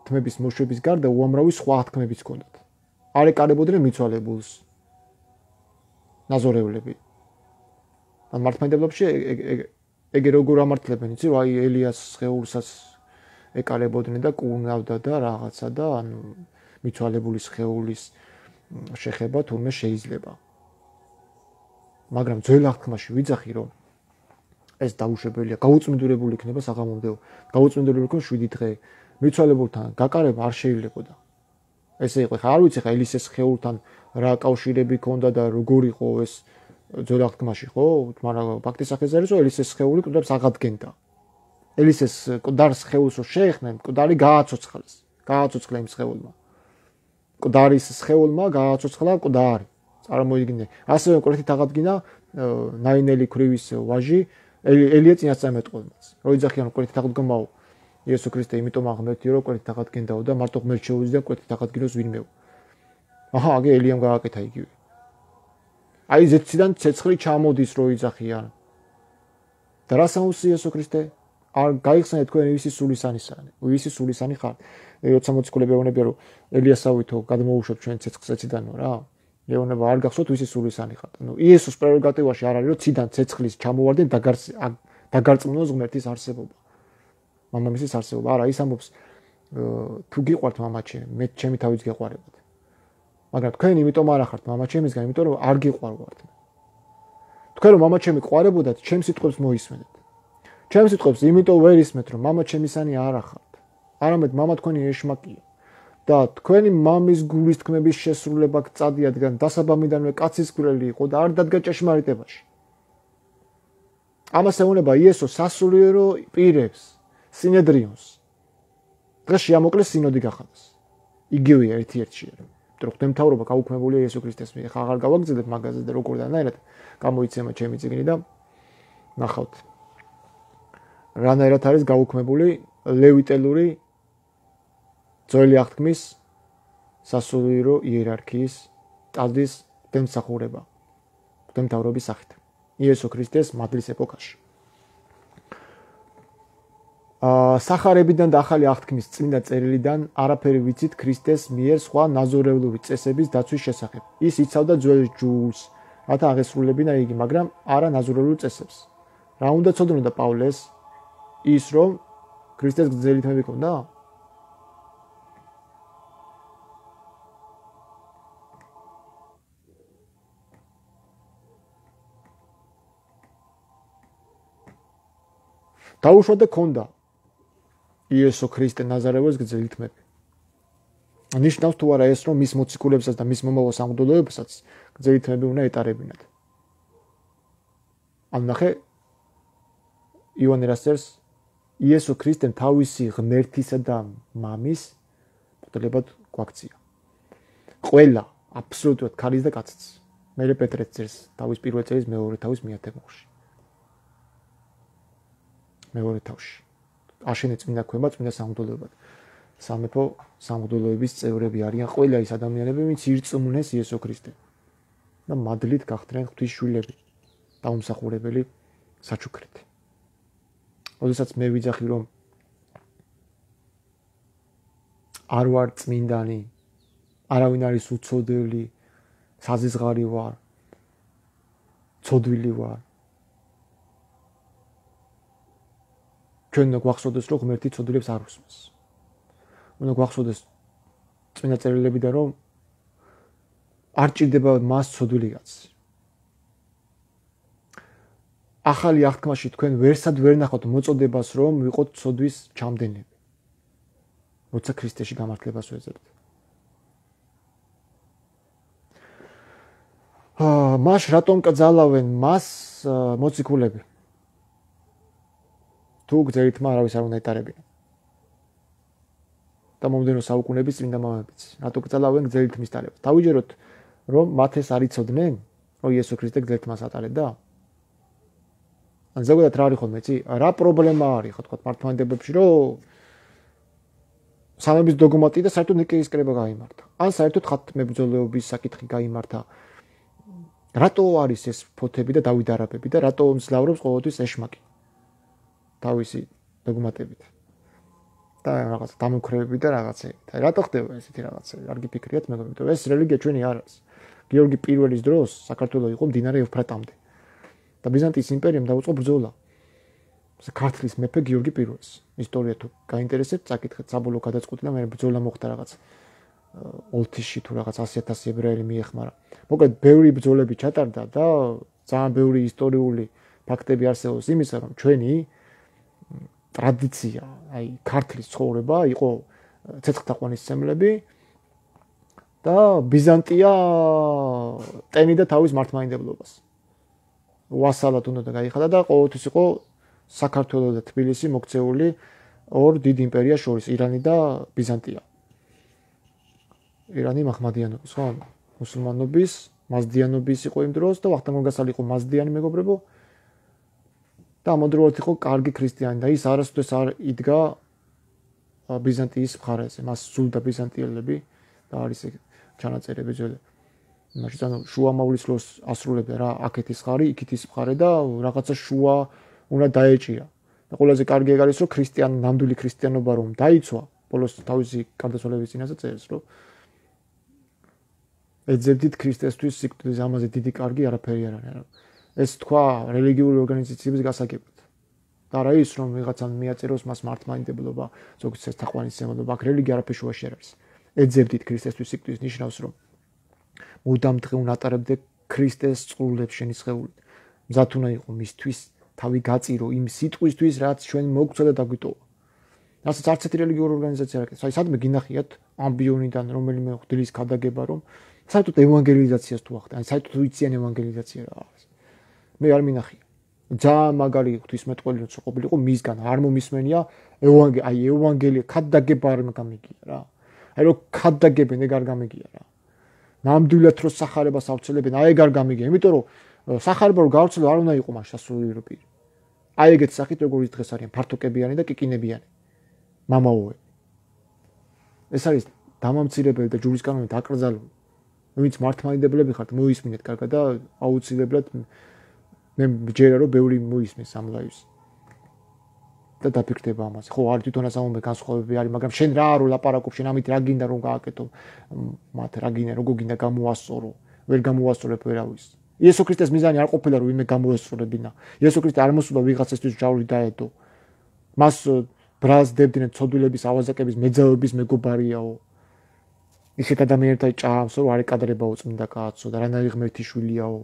თმების მოშვების გარდა უამრავი სხვა აღთქმებიც ჰქონდათ. არ ეკარებოდნენ მიცვალებულს ნაზორევლები. ან მართლმადიდებლობაში ეგ როგორ ამართლებენ, იცი, რომ აი ელიას სხეულსაც ეკარებოდნენ და კუნავდა და რაღაცა და ანუ მიცვალებულის სხეულის შეხება თურმე შეიძლება. მაგრამ ძველ აღთქმაში ვიძახი, რომ ეს დაუშვებელია, გაუწმინდურებული იქნება საღამომდეო, გაუწმინდურებული იქნება შვიდი დღე. მიცვალებულთან გაკარება არ შეიძლებოდა. ესე იყო, ხა არ ვიცი ხა ელისეს სხეულთან რა კავშირები ჰქონდა და როგორ იყო ეს ძველ აღთქმაში, ხო? მაგრამ ფაქტის სახეზე არის, რომ ელისეს სხეული კიდევ აღადგენდა. ელისეს მკვდარ სხეულს რო შეეხნენ, მკვდარი გააცოცხლეს. გააცოცხლა იმ სხეულმა. მკვდარის სხეულმა გააცოცხლა მკვდარი. წარმოიდგინე. ასევე კონკრეტით აღადგინა ნაინელი ქრივის ვაჟი ელია წინასწარმეტყველმაც. რო იძახიან კონკრეტით აღდგომაო იესო ქრისტე, იმიტომ აღმერთი რომ კონკრეტით აღადგენდაო და მარტო ღმერთ შეუძლია კონკრეტით აღადგინოს ვინმეო. აჰა, აგე ელიამ გააკეთა იგივე. აი ზეციდან ცეცხლი ჩამოდის რო იძახიან. და რა საუნს იესო ქრისტე? არ გაიხსენეთ თქვენ ისი სულისანისანი. ისი სულისანი ხარ. როცა მოციქულები ეუბნებიან რომ ელიასავითო გადმოუშვებ ჩვენ ცეცხლს ეციდანო რა. ეუბნება არ გახსოვთ ისი სულისანი ხარ. ნუ იესოს პრეროგატივაში არ არის რომ ციდან ცეცხლის ჩამოვარდნენ დაგარწმუნოს ღმერთის არსებობა. მამამისის არსებობა. არა, ის ამბობს თუ გიყვართ მამაჩემი, მე ჩემი თავიც გეყვარებათ. მაგრამ თქვენ იმიტომ არ ახართ მამაჩემისგან, იმიტომ რომ არ გიყვარვართ. თქვენ რომ მამაჩემი ყვარებოდათ, ჩემს სიტყვებს მოისმენთ. ჩემს სიტყვებს იმიტომ ვერ ისმენთ, რომ მამაჩემისანი არ ახართ. არამედ მამა თქვენი ეშმაკია. და თქვენი მამის გულის თქმების შესრულება გწადიადგან დასაბამიდანვე კაცის გულელი იყო და არ დადგა ჭეშმარიტებაში. ამას ეუბნება იესო სასულიერო პირებს, სინედრიონს. დღეს შეამოკლეს სინოდი გახადოს. იგივეა ერთ-ერთი რომ ღვთისმთავრობა გაუქმებულია იესო ქრისტეს მიერ. ხა აღარ გავაგზავნებ მაგაზე და როგორ დანაირად გამოიცემა ჩემი წიგნი და ნახავთ. რანაირად არის გაუქმებული ლევიტელური ძველი აღთქმის სასულიერო იერარქიის ტაძრის დემსახურება ღვთისმთავრობის სახით იესო ქრისტეს მადლის ეპოქაში. აა სახარებიდან და ახალი აღთქმის წმინდა წერილიდან არაფერი ვიცით ქრისტეს მიერ სხვა ნაზორევლური წესების დაცვის შესახებ. ის იცავდა ძველ ჯულს, რათა აღესრულებინა იგი, მაგრამ არა ნაზორევლურ წესებს. რა უნდა ცოდნოდა პავლეს? ის რომ ქრისტეს გრძელი თმები ჰქონდა? დაუშვათ და ქონდა იესო ქრისტე ნაზარეველს გრძელი თმები. ნიშნავს თუ არა ეს, რომ მის მოციქულებსაც და მის მომავალ სამღვდელოებსაც გრძელი თმები უნდა ეტარებინათ. ან ნახე იოანე რასწერს იესო ქრისტემ თავისი ღმერთისა და მამის მღვდლებად გვაქცია. ყველა აბსოლუტურად ქალის და კაციც. მერე პეტრეც წერს თავის პირველ წელს მეორე თავის მიათებოში. მეორე თავში. აშენე წმინდა ქვება წმინდა სამღვდელოებად. სამეფო სამღვდელოების წევრები არიან ყველა ის ადამიანები, ვინც ირწმუნეს იესო ქრისტემ. და მადლით გახდნენ ღვთის შვილები, დაუმსახურებელი საჩუქრით. როდესაც მე ვიძახი რომ არ ვარ წმინდანი, არავინ არის უცოდელი, საზიზღარი ვარ, ცოდვილი ვარ. ჩვენ უნდა გვახსოვდეს, რომ ღმერთი ცოდვილებს არ უსმენს. უნდა გვახსოვდეს წმინდა წერილებიდან, რომ არ ჭირდება მას ცოდვილი კაცი. ახალი აღთქმაში თქვენ ვერსად ვერ ნახავთ მოწოდებას, რომ ვიყოთ ცოდვის ჩამდენები. როცა ქრისტეში გამართლებას ვეძებთ. აა მას რატომ კძალავენ მას მოციქულები? თუ გრძელი თმა არავის არ უნდა ეტარებინა. და მომდენო საუკუნეების წმინდა მამებიც რატო კძალავენ გრძელი თმის ტარებას? დავიჯეროთ, რომ მათ ეს არ იცოდნენ, რომ იესო ქრისტე გრძელი თმას ატარებდა? ან ზოგადად რა არის ხოლმე, იცი? რა პრობლემა არის, ხო თქვა მართლმადიდებლებში, რომ სამების დოგმატი და საერთოდ ნიკეის კრება გაიმართა. ან საერთოდ ხათმებრძოლეობის საკითხი გაიმართა. რატო არის ეს ფოთები და დავით არაბები და რატო მძლავრობს ყოველთვის ეშმაკი? თავისი დოგმატებით. და რაღაც დამოქრევები და რაღაცები. და რატო ხდება ესეთი რაღაცები? არ გიფიქრიათ მეგობრებო, ეს რელიგია ჩვენი არ არის. გიორგი პირველის დროს საქართველოს იყო მდინარე ევფრატამდე. და ბიზანტიის იმპერიამ დაუწყო ბრძოლა. ქართლის მეფე გიორგი პირველს. ისტორია თუ გაინტერესებთ, წაკითხეთ, საბოლოო გადაწყვეტილა, მე ბრძოლა მოხდა რაღაც ოლთისში თუ რაღაც ასი ათასი ებრაელი მიეხმარა. მოკლედ, ბევრი ბრძოლები ჩატარდა და ძალიან ბევრი ისტორიული ფაქტები არსებობს იმისა, რომ ჩვენი ტრადიცია, აი ქართლის ცხოვრება იყო ცეცხლთაყვანისმცემლები და ბიზანტია ტენიდა თავის მართლმაინდებლობას. ვასალად უნდა გაიხადა და ყოველთვის იყო საქართველოს და თბილისი მოქცეული ორ დიდ იმპერიას შორის, ირანი და ბიზანტია. ირანი მაჰმადიანობის, ხო? მუსულმანობის, მაზდიანობის იყო იმ დროს და ვახტანგ გოგასალი იყო მაზდიანი მეგობრებო. და ამავდროულად იყო კარგი ქრისტიანი და ის არასდროს არ იდგა ბიზანტიის მხარეზე. მას სულდა ბიზანტიელები და არის ჩანაწერები ძველი. მაშინ ანუ შუამავლის დროს ასრულებდა რა, აქეთის მხარე, იქეთის მხარე და რაღაცა შუა უნდა დაეჭირა. და ყველაზე კარგი ეგ არის, რომ ქრისტიან ნამდვილი ქრისტიანობა რომ დაიცვა, ბოლოს თავისი გარდაცვალების წინაზე წერს, რომ ეძებდით ქრისტესთვის სიკვდილის, ამაზე დიდი კარგი არაფერი არ არის. ეს თქვა რელიგიური ორგანიზაციების გასაგებად. და რა ის რომ ვიღაცამ მიაწეროს მას მართლმაინდებლობა, ზოგადად ცეცხლთაყვანისმცემლობა, აქ რელიგია არაფერი შუაში არ არის. ეძებდით ქრისტესთვის სიკვდილის ნიშნავს, რომ მუდამ დღეუნ ატარებდე ქრისტეს წყურლებს შენი სხეულით. მზად უნდა იყო მისთვის თავი გაწირო იმ სიტყვისთვის, რაც ჩვენ მოგცვა და დაგვიტოვა. რასაც არც ერთი რელიგიური ორგანიზაცია არ აკეთებს. აი სადმე გინახიათ ამბიონიდან რომელიმე ღვთის ქადაგება, რომ საერთოდ ევანგელიზაციას თუ ახდენ, აი საერთოდ უიციან ევანგელიზაცია რა არის. მე არ მინახია. ძალიან მაგარი ღვთისმეტყველი როცა ყოფილიყო მისგან არ მომისმენია ევანგელია, აი ევანგელია ქადაგება არ გამიგია რა. აი რომ ქადაგებენ ეგ არ გამიგია რა. ნამდვილად რო სახარებას ავრცელებენ, აი ეგ არ გამიგია, იმიტომ რომ სახარება რო გავრცელო არ უნდა იყო მას სასულიერო პირი. აი ეგეთ სახით როგორ ის დღეს არიან ფართოკებიანი და კიკინებიანი. მამაოები. ეს არის დამამცირებელი და ჯურისკანონით აკრძალული. ვინც მართლმაინდებლები ხართ, მოისმინეთ კარგად და აუცილებლად მე მჯერა რომ ბევრი მოისმენს ამ ლაივს. და დაფიქრდება ამაზე. ხო, არ თვითონაც ამომე განსხვავებები არის, მაგრამ შენ რა რო ლაპარაკობ, შენ ამით რა გინდა რომ გააკეთო? მათ რა გინდა, როგორ გინდა გამოასწორო? ვერ გამოასწორებ ვერავის. იესო ქრისტეს მიზანი არ ყოფილა რომ ვინმე გამოესწორებინა. იესო ქრისტე არ მოსულა ვიღაცისთვის ჯავრი დაედო. მას ბრაზდებდნენ ცოდვილების, ავაზაკების, მეძავების მეგობარიაო. ისეთ ადამიანებთან ჭამს, რომ არ ეკადრებაო წმინდა კაცო და რანაირი ღმერთი შვილიაო.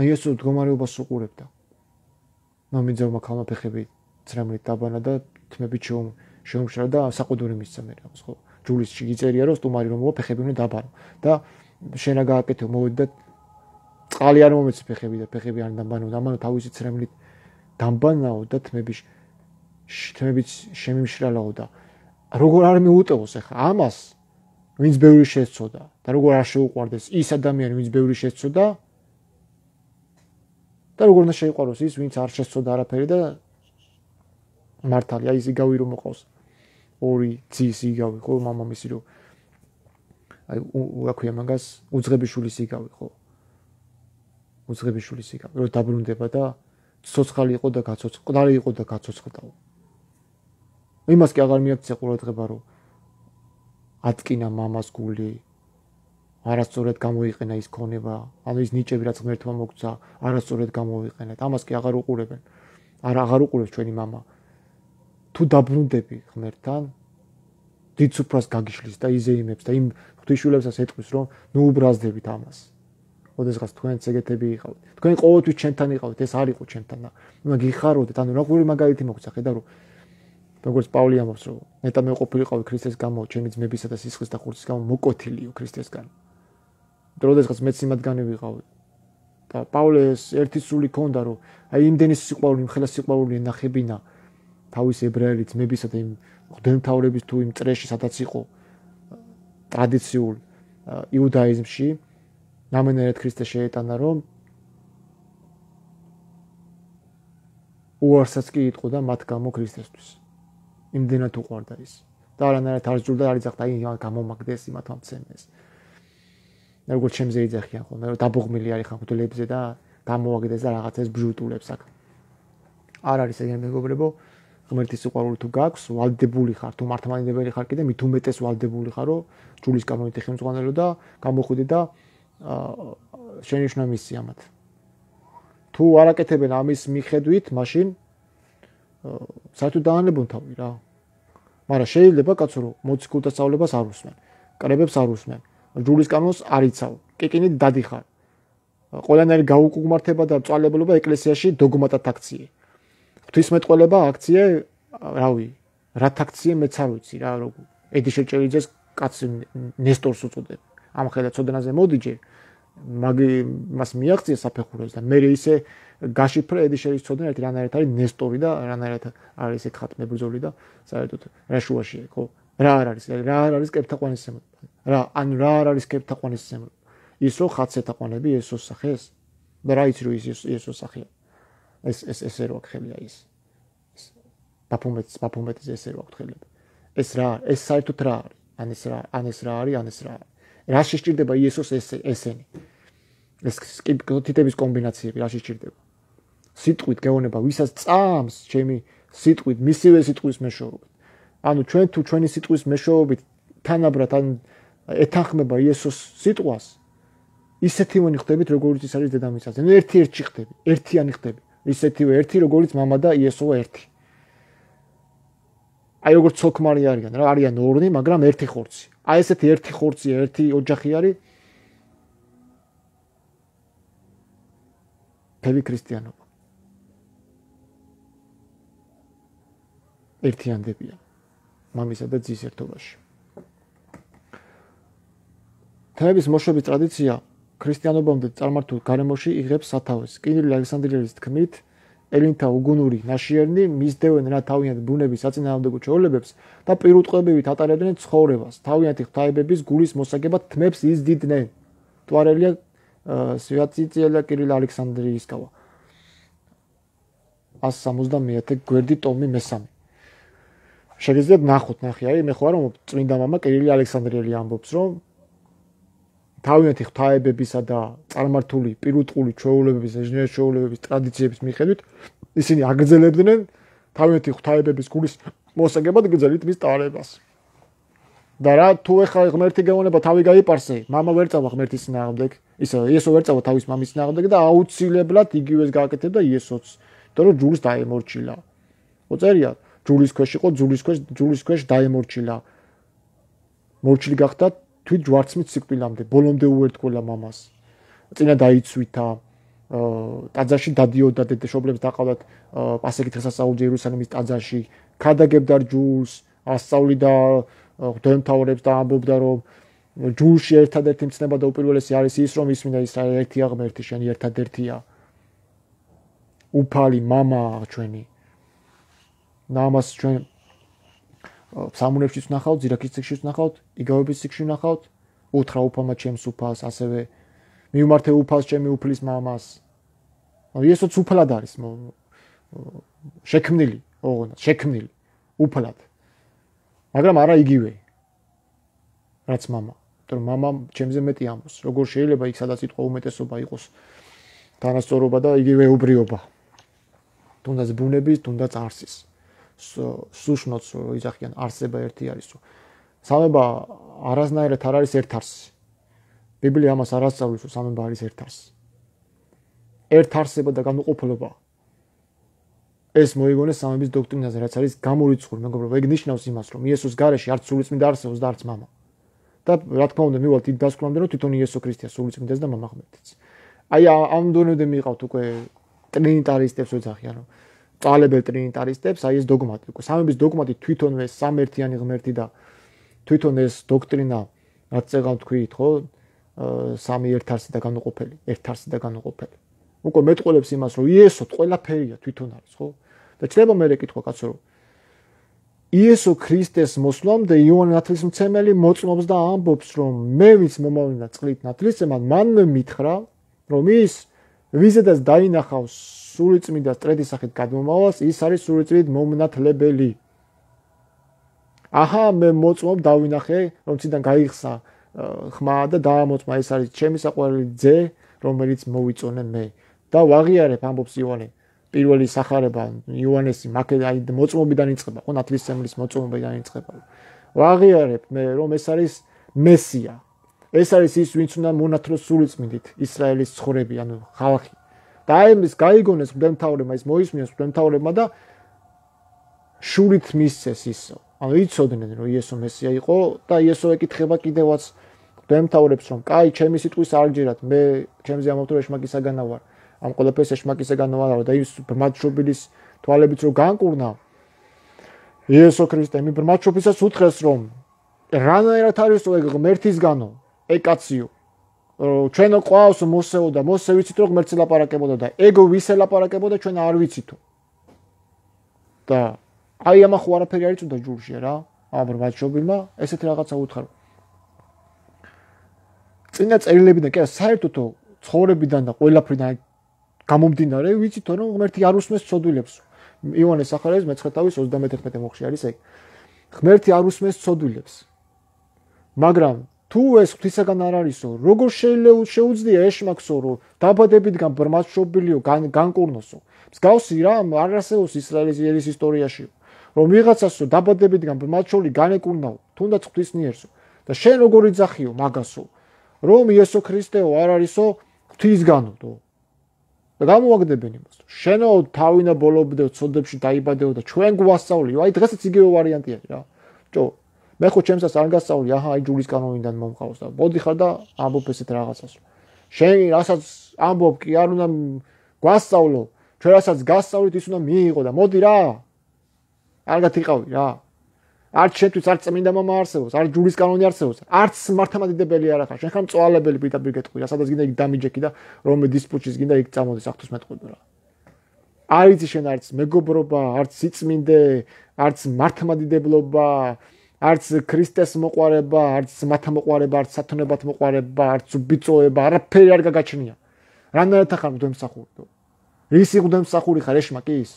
აი ეს მდგომარეობას უყურებდა. მომიძავმა ქალმა ფეხები ცრემლით დაბანა და თმებით შეუმშრა და საყუდური მისცა მე რაღაც ხო. ჯულისში იწერია რომ სტუმარი რომ მოვა ფეხები უნდა დაბანო და შენ რა გააკეთე მოვედი და წყალი არ მომეცი ფეხები და ფეხები არ დაბანო და ამან თავისი ცრემლით დამბანაო და თმების თმებით შემიმშრალაო და როგორ არ მიუტევოს ახლა ამას ვინც ბევრი შეცოდა და როგორ არ შეუყვარდეს ის ადამიანი ვინც ბევრი შეცოდა და როგორ უნდა შეიყვაროს ის ვინც არ შეცოდა არაფერი და მართალია ის იგავი რომ მოყავს ორი ძის იგავი ხო მამამისი რომ აი რა ქვია მაგას უძღებიშვილის იგავი ხო უძღებიშვილის იგავი რომ დაბრუნდება და ცოცხალი იყო და გაცოცხლდა ყდარი იყო და გაცოცხლდაო იმას კი აღარ მიაქცია ყურადღება რომ ატკინა მამას გული არასწორად გამოიყენა ის ქონება ანუ ის ნიჭები რაც ღმერთმა მოგცა არასწორად გამოიყენეთ ამას კი აღარ უყურებენ არ აღარ უყურებს ჩვენი მამა თუ დაბრუნდები ღმერთთან დიდ სუფრას გაგიშლის და იზეიმებს და იმ ღვთისმშობლებსაც ეტყვის რომ ნუ უბრაზდებით ამას ოდესღაც თქვენც ეგეთები იყავთ თქვენ ყოველთვის ჩემთან იყავთ ეს არ იყო ჩემთან და უნდა გიხაროდეთ ანუ როგორი მაგალითი მოგცა ხედავ რომ როგორც პავლე ამბობს რომ მეტა მე ყოფილიყავი ქრისტეს გამო ჩემი ძმებისა და სისხლის და ხურცის გამო მოკოთილიო ქრისტესგან და ოდესღაც მეც იმათგანი ვიყავი და პავლეს ერთი სული ქონდა რომ აი იმდენი სიყვარული იმხელა სიყვარული ნახებინა თავის ებრაელი ძმებისა და იმ ღვთისმთავრების თუ იმ წრეში სადაც იყო ტრადიციულ იუდაიზმში ნამენერად ქრისტე შეეტანა რომ უარსაც კი იტყო და მათ გამო ქრისტესთვის იმდენად უყვარდა ის და არანაირად არ ზურდა არ იძახდა აი გამომაგდეს იმათმა მცემეს როგორც ჩემზე იძახიან ხოლმე რომ დაბოღმილი არის ხან ღვთლებზე და გამოვაგდეს და რაღაცას ბჟუტულებს აქ არ არის ეგრე მეგობრებო, ღმერთის სიყვარული თუ გაქვს, ვალდებული ხარ, თუ მართლმადიდებელი ხარ კიდე მით უმეტეს ვალდებული ხარ, რომ ჯულის კანონით ხელმძღვანელო და გამოხვიდე და შენიშნა მის სიამად. თუ არ აკეთებენ ამის მიხედვით, მაშინ საერთოდ დაანებონ თავი რა. მაგრამ შეიძლება კაცო რომ მოციქულთა სწავლებას არ უსმენ, კრებებს არ უსმენ, ჯულის კანონს არ იცავ, კიკინით დადიხარ. ყველანაირი გაუკუგმართება და წვალებულობა ეკლესიაში დოგმატად აქციე. ღვთისმეტყველება აქციე, რავი, რათ აქციე მეც არ ვიცი რა, როგორ. ედი შეჭერიძეს კაცი ნესტორს უწოდებ. ამ ხედა ცოდნაზე მოდიჯე, მაგი მას მიაღწია საფეხურებს და მე ისე გაშიფრე ედი შეიცოდნა ერთი რანაირად არის ნესტორი და რანაირად არის ეგ ხატმე ბრძოლი და საერთოდ რა შუაშია, ხო? რა არ არის, რა არ არის კეფთაყვანისმცემლობა. რა, ანუ რა არ არის კეფთაყვანისმცემლობა. ის რომ ხატს ეთაყვანები იესოს სახეს და რა იცი რომ ის იესოს სახეა. ეს ეს ესე რო აღხელია ის. ბაფუმეტს ბაფუმეტის ესე რო აღხელება. ეს რა, ეს საერთოდ რა არის? ან ეს რა, ან ეს რა არის, ან ეს რა არის? რა შეჭirdება იესოს ეს ესენი? ეს თითების კომბინაციები რა შეჭirdება? სიტყვით გეუბნება ვისაც წამს ჩემი სიტყვით, მისივე სიტყვის მეშვეობით. ანუ ჩვენ თუ ჩვენი სიტყვის მეშვეობით თანაბრად ან ეთანხმება იესოს სიტყვას, ისეთივე ხდებით, როგორც ის არის დედამიწაზე. ნუ ერთი-ერთი ხდები, ერთიანი ხდები. ისეთივე ერთი, როგორც მამა და იესოა ერთი. აი როგორც ცოლ-ქმარი არიან, რა არიან ორნი, მაგრამ ერთი ხორცი. აი ესეთი ერთი ხორცი, ერთი ოჯახი არის ფები ქრისტიანობა. ერთიანდებიან მამისა და ძის ერთობაში. თემების მოშვების ტრადიცია ქრისტიანობამდე წარმართულ გარემოში იღებს სათავეს. კინილი ალექსანდრიელის თქმით, ელინთა უგუნური ნაშიერნი მისდევენ რა თავიანთ ბუნების საწინააღმდეგო ჩვეულებებს და პირუტყვებივით ატარებდნენ ცხოვრებას. თავიანთი ღვთაებების გულის მოსაგებად თმებს იზდიდნენ. თვარელია სვიატიცია კირილ ალექსანდრიისკავა. ას სამოცდამეათე გვერდი ტომი მესამე. შეგიძლიათ ნახოთ, ნახე, აი მე ხო არ ვამბობ, წმინდა მამა კირილი ალექსანდრიელი ამბობს, რომ თავიანთი ღვთაებებისა და წარმართული პირუტყული ჩვეულებების, ეჟნიერ ჩვეულებების ტრადიციების მიხედვით ისინი აგრძელებდნენ თავიანთი ღვთაებების გულის მოსაგებად გრძელით მის ტარებას. და რა თუ ეხლა ღმერთი გეუბნება თავი გაიპარსე, მამა ვერ წავა ღმერთის წინააღმდეგ, ისე იესო ვერ წავა თავის მამის წინააღმდეგ და აუცილებლად იგივეს გააკეთებდა იესოც, იმიტომ რომ ჯულს დაემორჩილა. მოწერია, ჯულის ქვეშ იყო, ჯულის ქვეშ, ჯულის ქვეშ დაემორჩილა. მორჩილი გახდა თვით ჯვარცმით სიკვდილამდე, ბოლომდე უერთგოლა მამას. წინა დაიცვითა, ტაძარში დადიოდა დედაშობლებს დაყავდათ პასექით სასწაულზე იერუსალიმის ტაძარში, ქადაგებდა ჯულს, ასწავლიდა ღვთაემთავრებს და ამბობდა რომ ჯულში ერთადერთი მცნება და უპირველესი არის ის რომ ისმინა ისრაელი ერთია ღმერთი შენი ერთადერთია. უფალი მამა ჩვენი. ნამას ჩვენ სამუნებშიც ვნახავთ, ზირაქის ციხეშიც ვნახავთ, იგავების ციხეში ვნახავთ, უთხრა უფალმა ჩემს უფალს, ასევე მიუმართე უფალს ჩემი უფლის მამას. იესოც უფალად არის შექმნილი, ოღონდ შექმნილი უფალად. მაგრამ არა იგივე. რაც მამა. იმიტომ რომ მამა ჩემზე მეტი ამბობს. როგორ შეიძლება იქ სადაც სიტყვა უმეტესობა იყოს თანასწორობა და იგივე უბრიობა. თუნდაც ბუნების, თუნდაც არსის. სუშნოც იძახიან არსება ერთი არისო. სამება არასნაირად არ არის ერთ არსი. ბიბლია ამას არ ასწავლის, რომ სამება არის ერთ არსი. ერთ არსება და განუყოფლობა. ეს მოიგონეს სამების დოქტრინაზე, რაც არის გამორიცხული, მეგობრებო, ეგ ნიშნავს იმას, რომ იესოს გარეშე არც სულიწმინდა არსებობს და არც მამა. და რა თქმა უნდა, მივალთ იმ დასკვნამდე, რომ თვითონ იესო ქრისტეა სულიწმინდას და მამა ღმერთიც. აი ამ დონემდე მიყავთ უკვე ტრინიტარისტებს ვეძახიან, რომ წალებელ ტრინიტარისტებს, აი ეს დოგმატი, უკვე სამების დოგმატი თვითონვე სამერთიანი ღმერთი და თვითონ ეს დოქტრინა, რაც წეგავ თქვით, ხო? სამი ერთ არსი და განუყოფელი, ერთ არსი და განუყოფელი. უკვე მეტყოლებს იმას, რომ იესო ყველაფერია თვითონ არის, ხო? და ჩდება მე რეკითხვა კაცო, რომ იესო ქრისტეს მოსვლამდე იოანე ნათლისმცემელი მოწმობს და ამბობს, რომ მე ვინც მომავლინა წყლით ნათლისმცემად, მანვე მითხრა, რომ ის ვიზედაც დაინახავს სულიწმიდას ტრედის სახით გადმომავალს, ის არის სულიწმიდ მომნათლებელი. აჰა, მე მოწმობ დავინახე, რომ ციდან გაიხსა ხმა და დაამოწმა, ეს არის ჩემი საყვარელი ძე, რომელიც მოვიწონე მე. და ვაღიარებ, ამბობს იოანე, პირველი სახარება იოანესი მაკედონი მოწმობიდან იწყება, ხო ნათლისმცემლის მოწმობიდან იწყება. ვაღიარებ მე რომ ეს არის მესია. ეს არის ის ვინც უნდა მონათლოს სულიწმიდით ისრაელის ცხოვრები, ანუ ხალხი. და აი ეს გაიგონეს მღვდელმთავრებმა, ის მოისმინეს მღვდელმთავრებმა და შურით მისცეს ისო. ანუ იცოდნენ რომ იესო მესია იყო და იესო ეკითხება კიდევაც მღვდელმთავრებს რომ კაი ჩემი სიტყვის არ გჯერათ, მე ჩემზე ამავდროულად ეშმაკისაგანა ვარ. ამ ყველაფერს ეშმაკისაგანა ვარ და ის ბრმადშობილის თვალებით რო განკურნა იესო ქრისტე მი ბრმადშობისას უთხრეს რომ რანაირად არის ეგ ღმერთისგანო ეკაციო ჩვენო ყავს მოსეო და მოსე ვიცით რომ ღმერთს ელაპარაკებოდა და ეგ ვის ელაპარაკებოდა ჩვენ არ ვიცითო და აი ამახო არაფერი არ იწვდა ჯურში რა ამ ბრმადშობილმა ესეთი რაღაცა უთხრა წინა წერილებიდან კი საერთოდ ცხოვრებიდან და ყველაფრიდან გამომდინარე ვიცით რომ ღმერთი არ უსმენს ცოდვილებს იოანეს სახარების მეცხრე თავის ოცდამეთერთმეტე მოხში არის ეგ ღმერთი არ უსმენს ცოდვილებს მაგრამ თუ ეს ღვთისაგან არ არისო როგორ შეიძლება შეუძლია ეშმაკსო რომ დაბადებიდან ბრმადშობილიო განკურნოსო მსგავსი რა არ არსებობს ისრაელის ისტორიაში რომ ვიღაცასო დაბადებიდან ბრმადშობილი განეკურნაო თუნდაც ღვთისნიერსო და შენ როგორ იძახიო მაგასო რომ იესო ქრისტეო არ არისო ღვთისგანო და გამოვაგდებენ იმას. შენო თავინა ბოლობდეო ცოდებში დაიბადეო და ჩვენ გვასწავლიო. აი დღესაც იგივე ვარიანტი არის რა. ჯო, მე ხო ჩემსაც არ გასწავლი, აჰა, აი ჯურის კანონიდან მომყავს და მოდიხარ და ამბობ ესეთ რაღაცას. შენ რასაც ამბობ კი არ უნდა გვასწავლო, ჩვენ რასაც გასწავლით ის უნდა მიიღო და მოდი რა. არგათ იყავი რა. არც შენთვის არც წმინდა მამა არსებობს, არც ჯურის კანონი არსებობს, არც მართლმადიდებელი არ ახარ. შენ ხარ მწვალებელი პირდაპირ გეტყვი რა, სადაც გინდა იქ დამიჯექი და რომე დისპუტის გინდა იქ წამოდის აღთქმეთყვი რა. არ იცი შენ არც მეგობრობა, არც სიწმინდე, არც მართლმადიდებლობა, არც ქრისტეს მოყვარება, არც მათამოყვარება, არც სათონებად მოყვარება, არც ბიწოება, არაფერი არ გაგაჩნია. რანაირად ხარ მღვდელმსახური? ისი მღვდელმსახური ხარ ეშმაკის?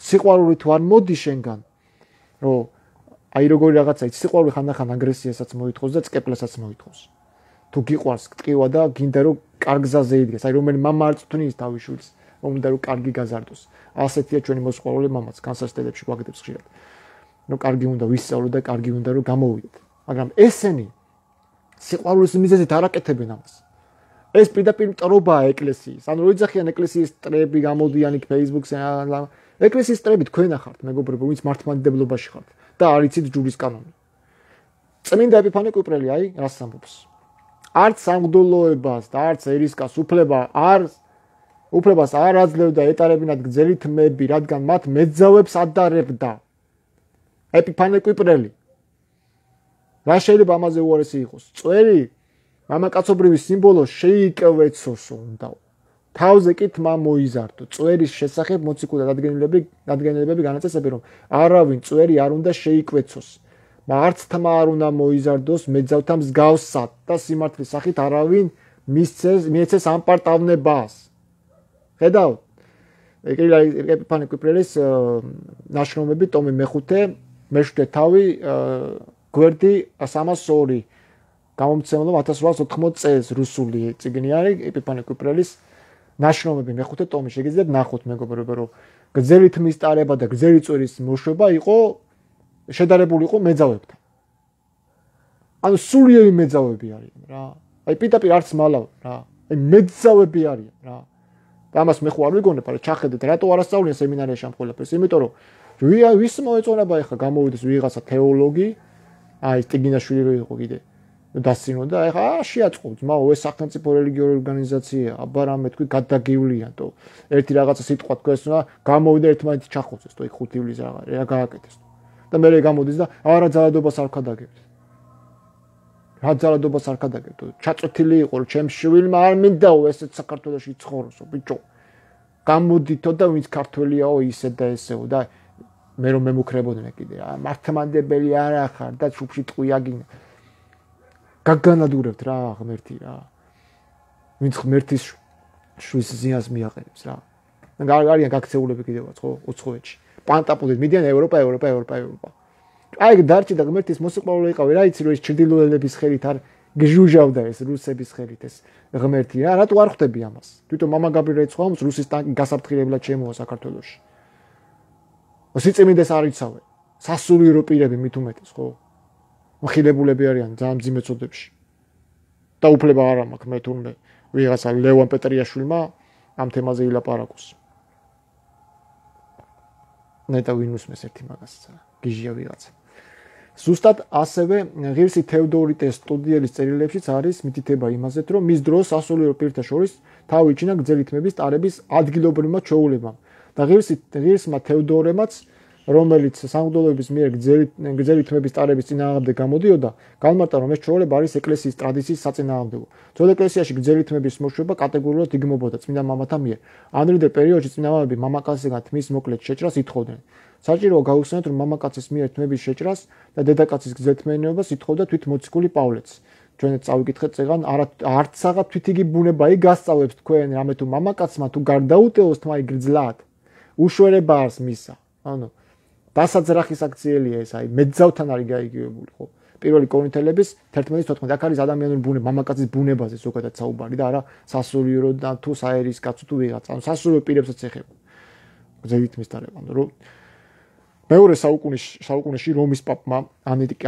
სიყვარული თუ არ მოდი შენგან? რომ აი როგორი რაღაცა იცი სიყვარული ხანდახან აგრესიასაც მოითხოვს და წკეპლასაც მოითხოვს. თუ გიყვარს ტკივა და გინდა რომ კარგ გზაზე იდგეს, აი რომელი მამა არ წვნის თავის შვილს, რომ უნდა რომ კარგი გაზარდოს. ასეთია ჩვენი მოსყვარული მამაც, განსასწრებებში გვაგდებს ხშირად. რომ კარგი უნდა ვისწავლო და კარგი უნდა რომ გამოვიდეთ. მაგრამ ესენი სიყვარულის მიზეზით არ აკეთებენ ამას. ეს პირდაპირ მტრობაა ეკლესიის. ანუ რო იძახიან ეკლესიის ტრები გამოდიან იქ Facebook-ზე ეკლესიის ტრები თქვენ ახართ მეგობრებო ვინც მართლმადიდებლობაში ხართ და არ იცით ჯურის კანონი. წმინდა ეპიფანე კვიპრელი აი რას ამბობს? არც სამღვდელოებას და არც ერისკას უფლება არ უფლებას არ აძლევდა ეტარებინათ გრძელი თმები, რადგან მათ მეძავებს ადარებდა. ეპიფანე კვიპრელი. რა შეიძლება ამაზე უარესი იყოს? წვერი მამაკაცობრივი სიმბოლო შეიკევეცოსო უნდა. თავზე კი თმა მოიზარდო. წვერის შესახებ მოციქულთა დადგენილები დადგენილებები განაწესებენ რომ არავინ წვერი არ უნდა შეიკვეცოს. მარც თმა არ უნდა მოიზარდოს მეძავთა მსგავსად და სიმართლის სახით არავინ მისცეს მიეცეს ამ პარტავნებას. ხედავთ? ეპიფანე კვიპრელის ნაშრომები ტომი მეხუთე მეშვიდე თავი გვერდი სამას ორი გამომცემლობა ათას რვაას ოთხმოც წელს რუსული წიგნი არის ეპიფანე კვიპრელის ნაშრომები მეხუთე ტომი შეგიძლიათ ნახოთ მეგობრებო რომ გრძელი თმის ტარება და გრძელი წვერის მოშვება იყო შედარებული იყო მეძავებთან. ანუ სულიერი მეძავები არიან რა. აი პირდაპირ არც მალავ რა. აი მეძავები არიან რა. და ამას მე ხო არ ვიგონებ, არა ჩახედეთ რატო არასწავლიან სემინარიაში ამ ყველაფერს? იმიტომ რომ ვის მოეწონება ახლა გამოვიდეს ვიღაცა თეოლოგი, აი სტიგინაშვილი იყო კიდე. დასწინო და ეხა შეაწყო ძმაო ეს სახელმწიფო რელიგიური ორგანიზაცია აბა რამე თქვი გადაგივლიან თო ერთი რაღაცა სიტყვა თქვენს უნდა გამოვიდა ერთმანეთი ჩახოცეს თო იქ ხუთი ივლის რა რა გააკეთეს და მე გამოდის და არა ძალადობას არ ქადაგებთ რა ძალადობას არ ქადაგებთ ჩაწოთილი იყო რომ ჩემ შვილმა არ მინდაო ესეც საქართველოში ცხოვროსო ბიჭო გამოდითო და ვინც ქართველიაო ისე და ესეო და მე რომ მემუქრებოდნენ კიდე რა მართლმადიდებელი არ ახარ და შუბში ტყვიაგინ გაგანადგურებთ რა ღმერთი რა. ვინც ღმერთის შვილს ზიანს მიაყენებს რა. არიან გაქცეულები კიდევაც ხო უცხოეთში. პანტაპუდით მიდიან ევროპა, ევროპა, ევროპა, ევროპა. აი დარჩი და ღმერთის მოსიყვარულე იყავი რა იცი რომ ეს ჩრდილოელების ხელით არ გიჟუჟავდა ეს რუსების ხელით ეს ღმერთი რა რატო არ ხვდები ამას თვითონ мама გაბრიელი ცხავს რუსის ტანკი გასაფრთხილებლად შემოვა საქართველოში სიწმინდეს არ იცავენ სასულიერო პირები მით უმეტეს ხო მხილებულები არიან ძალიან მძიმე წოდებში და უფლება არ მაქვს მე თურმე ვიღაცა ლევან პეტრიაშვილმა ამ თემაზე ილაპარაკოს ნეტა ვინუსმეს ერთი მაგასაც გიჟია ვიღაცა ზუსტად ასევე ღირსი თევდორიტეს სტუდიელის წერილებშიც არის მითითება იმაზე, რომ მის დროს სასულიერო პირთა შორის თავი იჩინა გრძელი თმების ტარების ადგილობრივმა ჩვეულებამ და ღირსი ღირსმა თევდორემაც, რომელიც სამღვდელოების მიერ გრძელი გრძელი თმების ტარების წინააღმდეგ გამოდიოდა, განმარტა, რომ ეს ჩვეულება არის ეკლესიის ტრადიციის საწინააღმდეგო. ძველ ეკლესიაში გრძელი თმების მოშვება კატეგორიულად იგმობოდა წმინდა მამათა მიერ. ანრიდე პერიოდში წმინდა მამები მამაკაცისგან თმის მოკლედ შეჭრას ითხოვდნენ. საჭიროა გაუხსენოთ, რომ მამაკაცის მიერ თმების შეჭრას და დედაკაცის გრძელთმიანობას ითხოვდა თვით მოციქული პავლეც. ჩვენც წავიკითხეთ წეგან, არცაღა თვით იგი ბუნება იქ გასწავებს თქვენ, რამე თუ მამაკაცმა თუ გარდაუტევოს თმა იგრძლად, უშვერება არს მისა. ანუ დასაძრახის აქციელია ეს, აი მეძავთან არის გაიგივებული, ხო? პირველი კორინთელების თერთმეტი თოთხმეტი აქ არის ადამიანური ბუნება, მამაკაცის ბუნებაზე ზოგადად საუბარი და არა სასულიერო და თუ საერის კაცო თუ ვიღაცა, ანუ სასულიერო პირებსაც ეხება. გრძელი თმის ტარება, ანუ რომ მეორე საუკუნეში საუკუნეში რომის პაპმა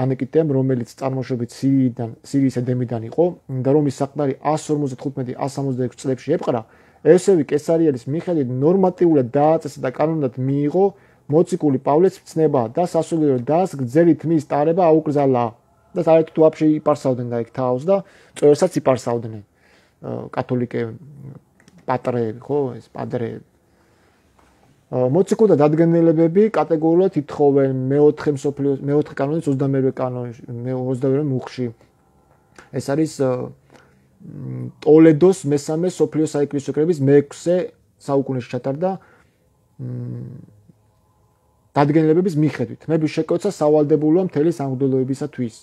ანიკიტემ, რომელიც წარმოშობით სირიიდან, სირიის ედემიდან იყო და რომის საყდარი εκατს ორმოცდახუთმეტი εκατს სამოცდაექვსი წლებში ეპყრა, ესევი კესარიელის მიხედვით ნორმატიულად დააწესა და კანონად მიიღო მოციქული პავლეს ცნება და სასულიერო დას გრძელი თმის ტარება აუკრძალა და საერთოდ ვაფშე იპარსავდნენ და იქ თავს და წვერსაც იპარსავდნენ კათოლიკე პატრეები, ხო, ეს პადრეები მოციქულთა დადგენილებები კატეგორიულად ითხოვენ მეოთხე მსოფლიო მეოთხე კანონის ოცდამერვე კანონში ოცდამერვე მუხში ეს არის ტოლედოს მესამე სოფლიო საეკლესიო კრების მეექვსე საუკუნეში ჩატარდა დადგენილებების მიხედვით თმების შეკოცა სავალდებულოა მთელი სამღვდელოებისათვის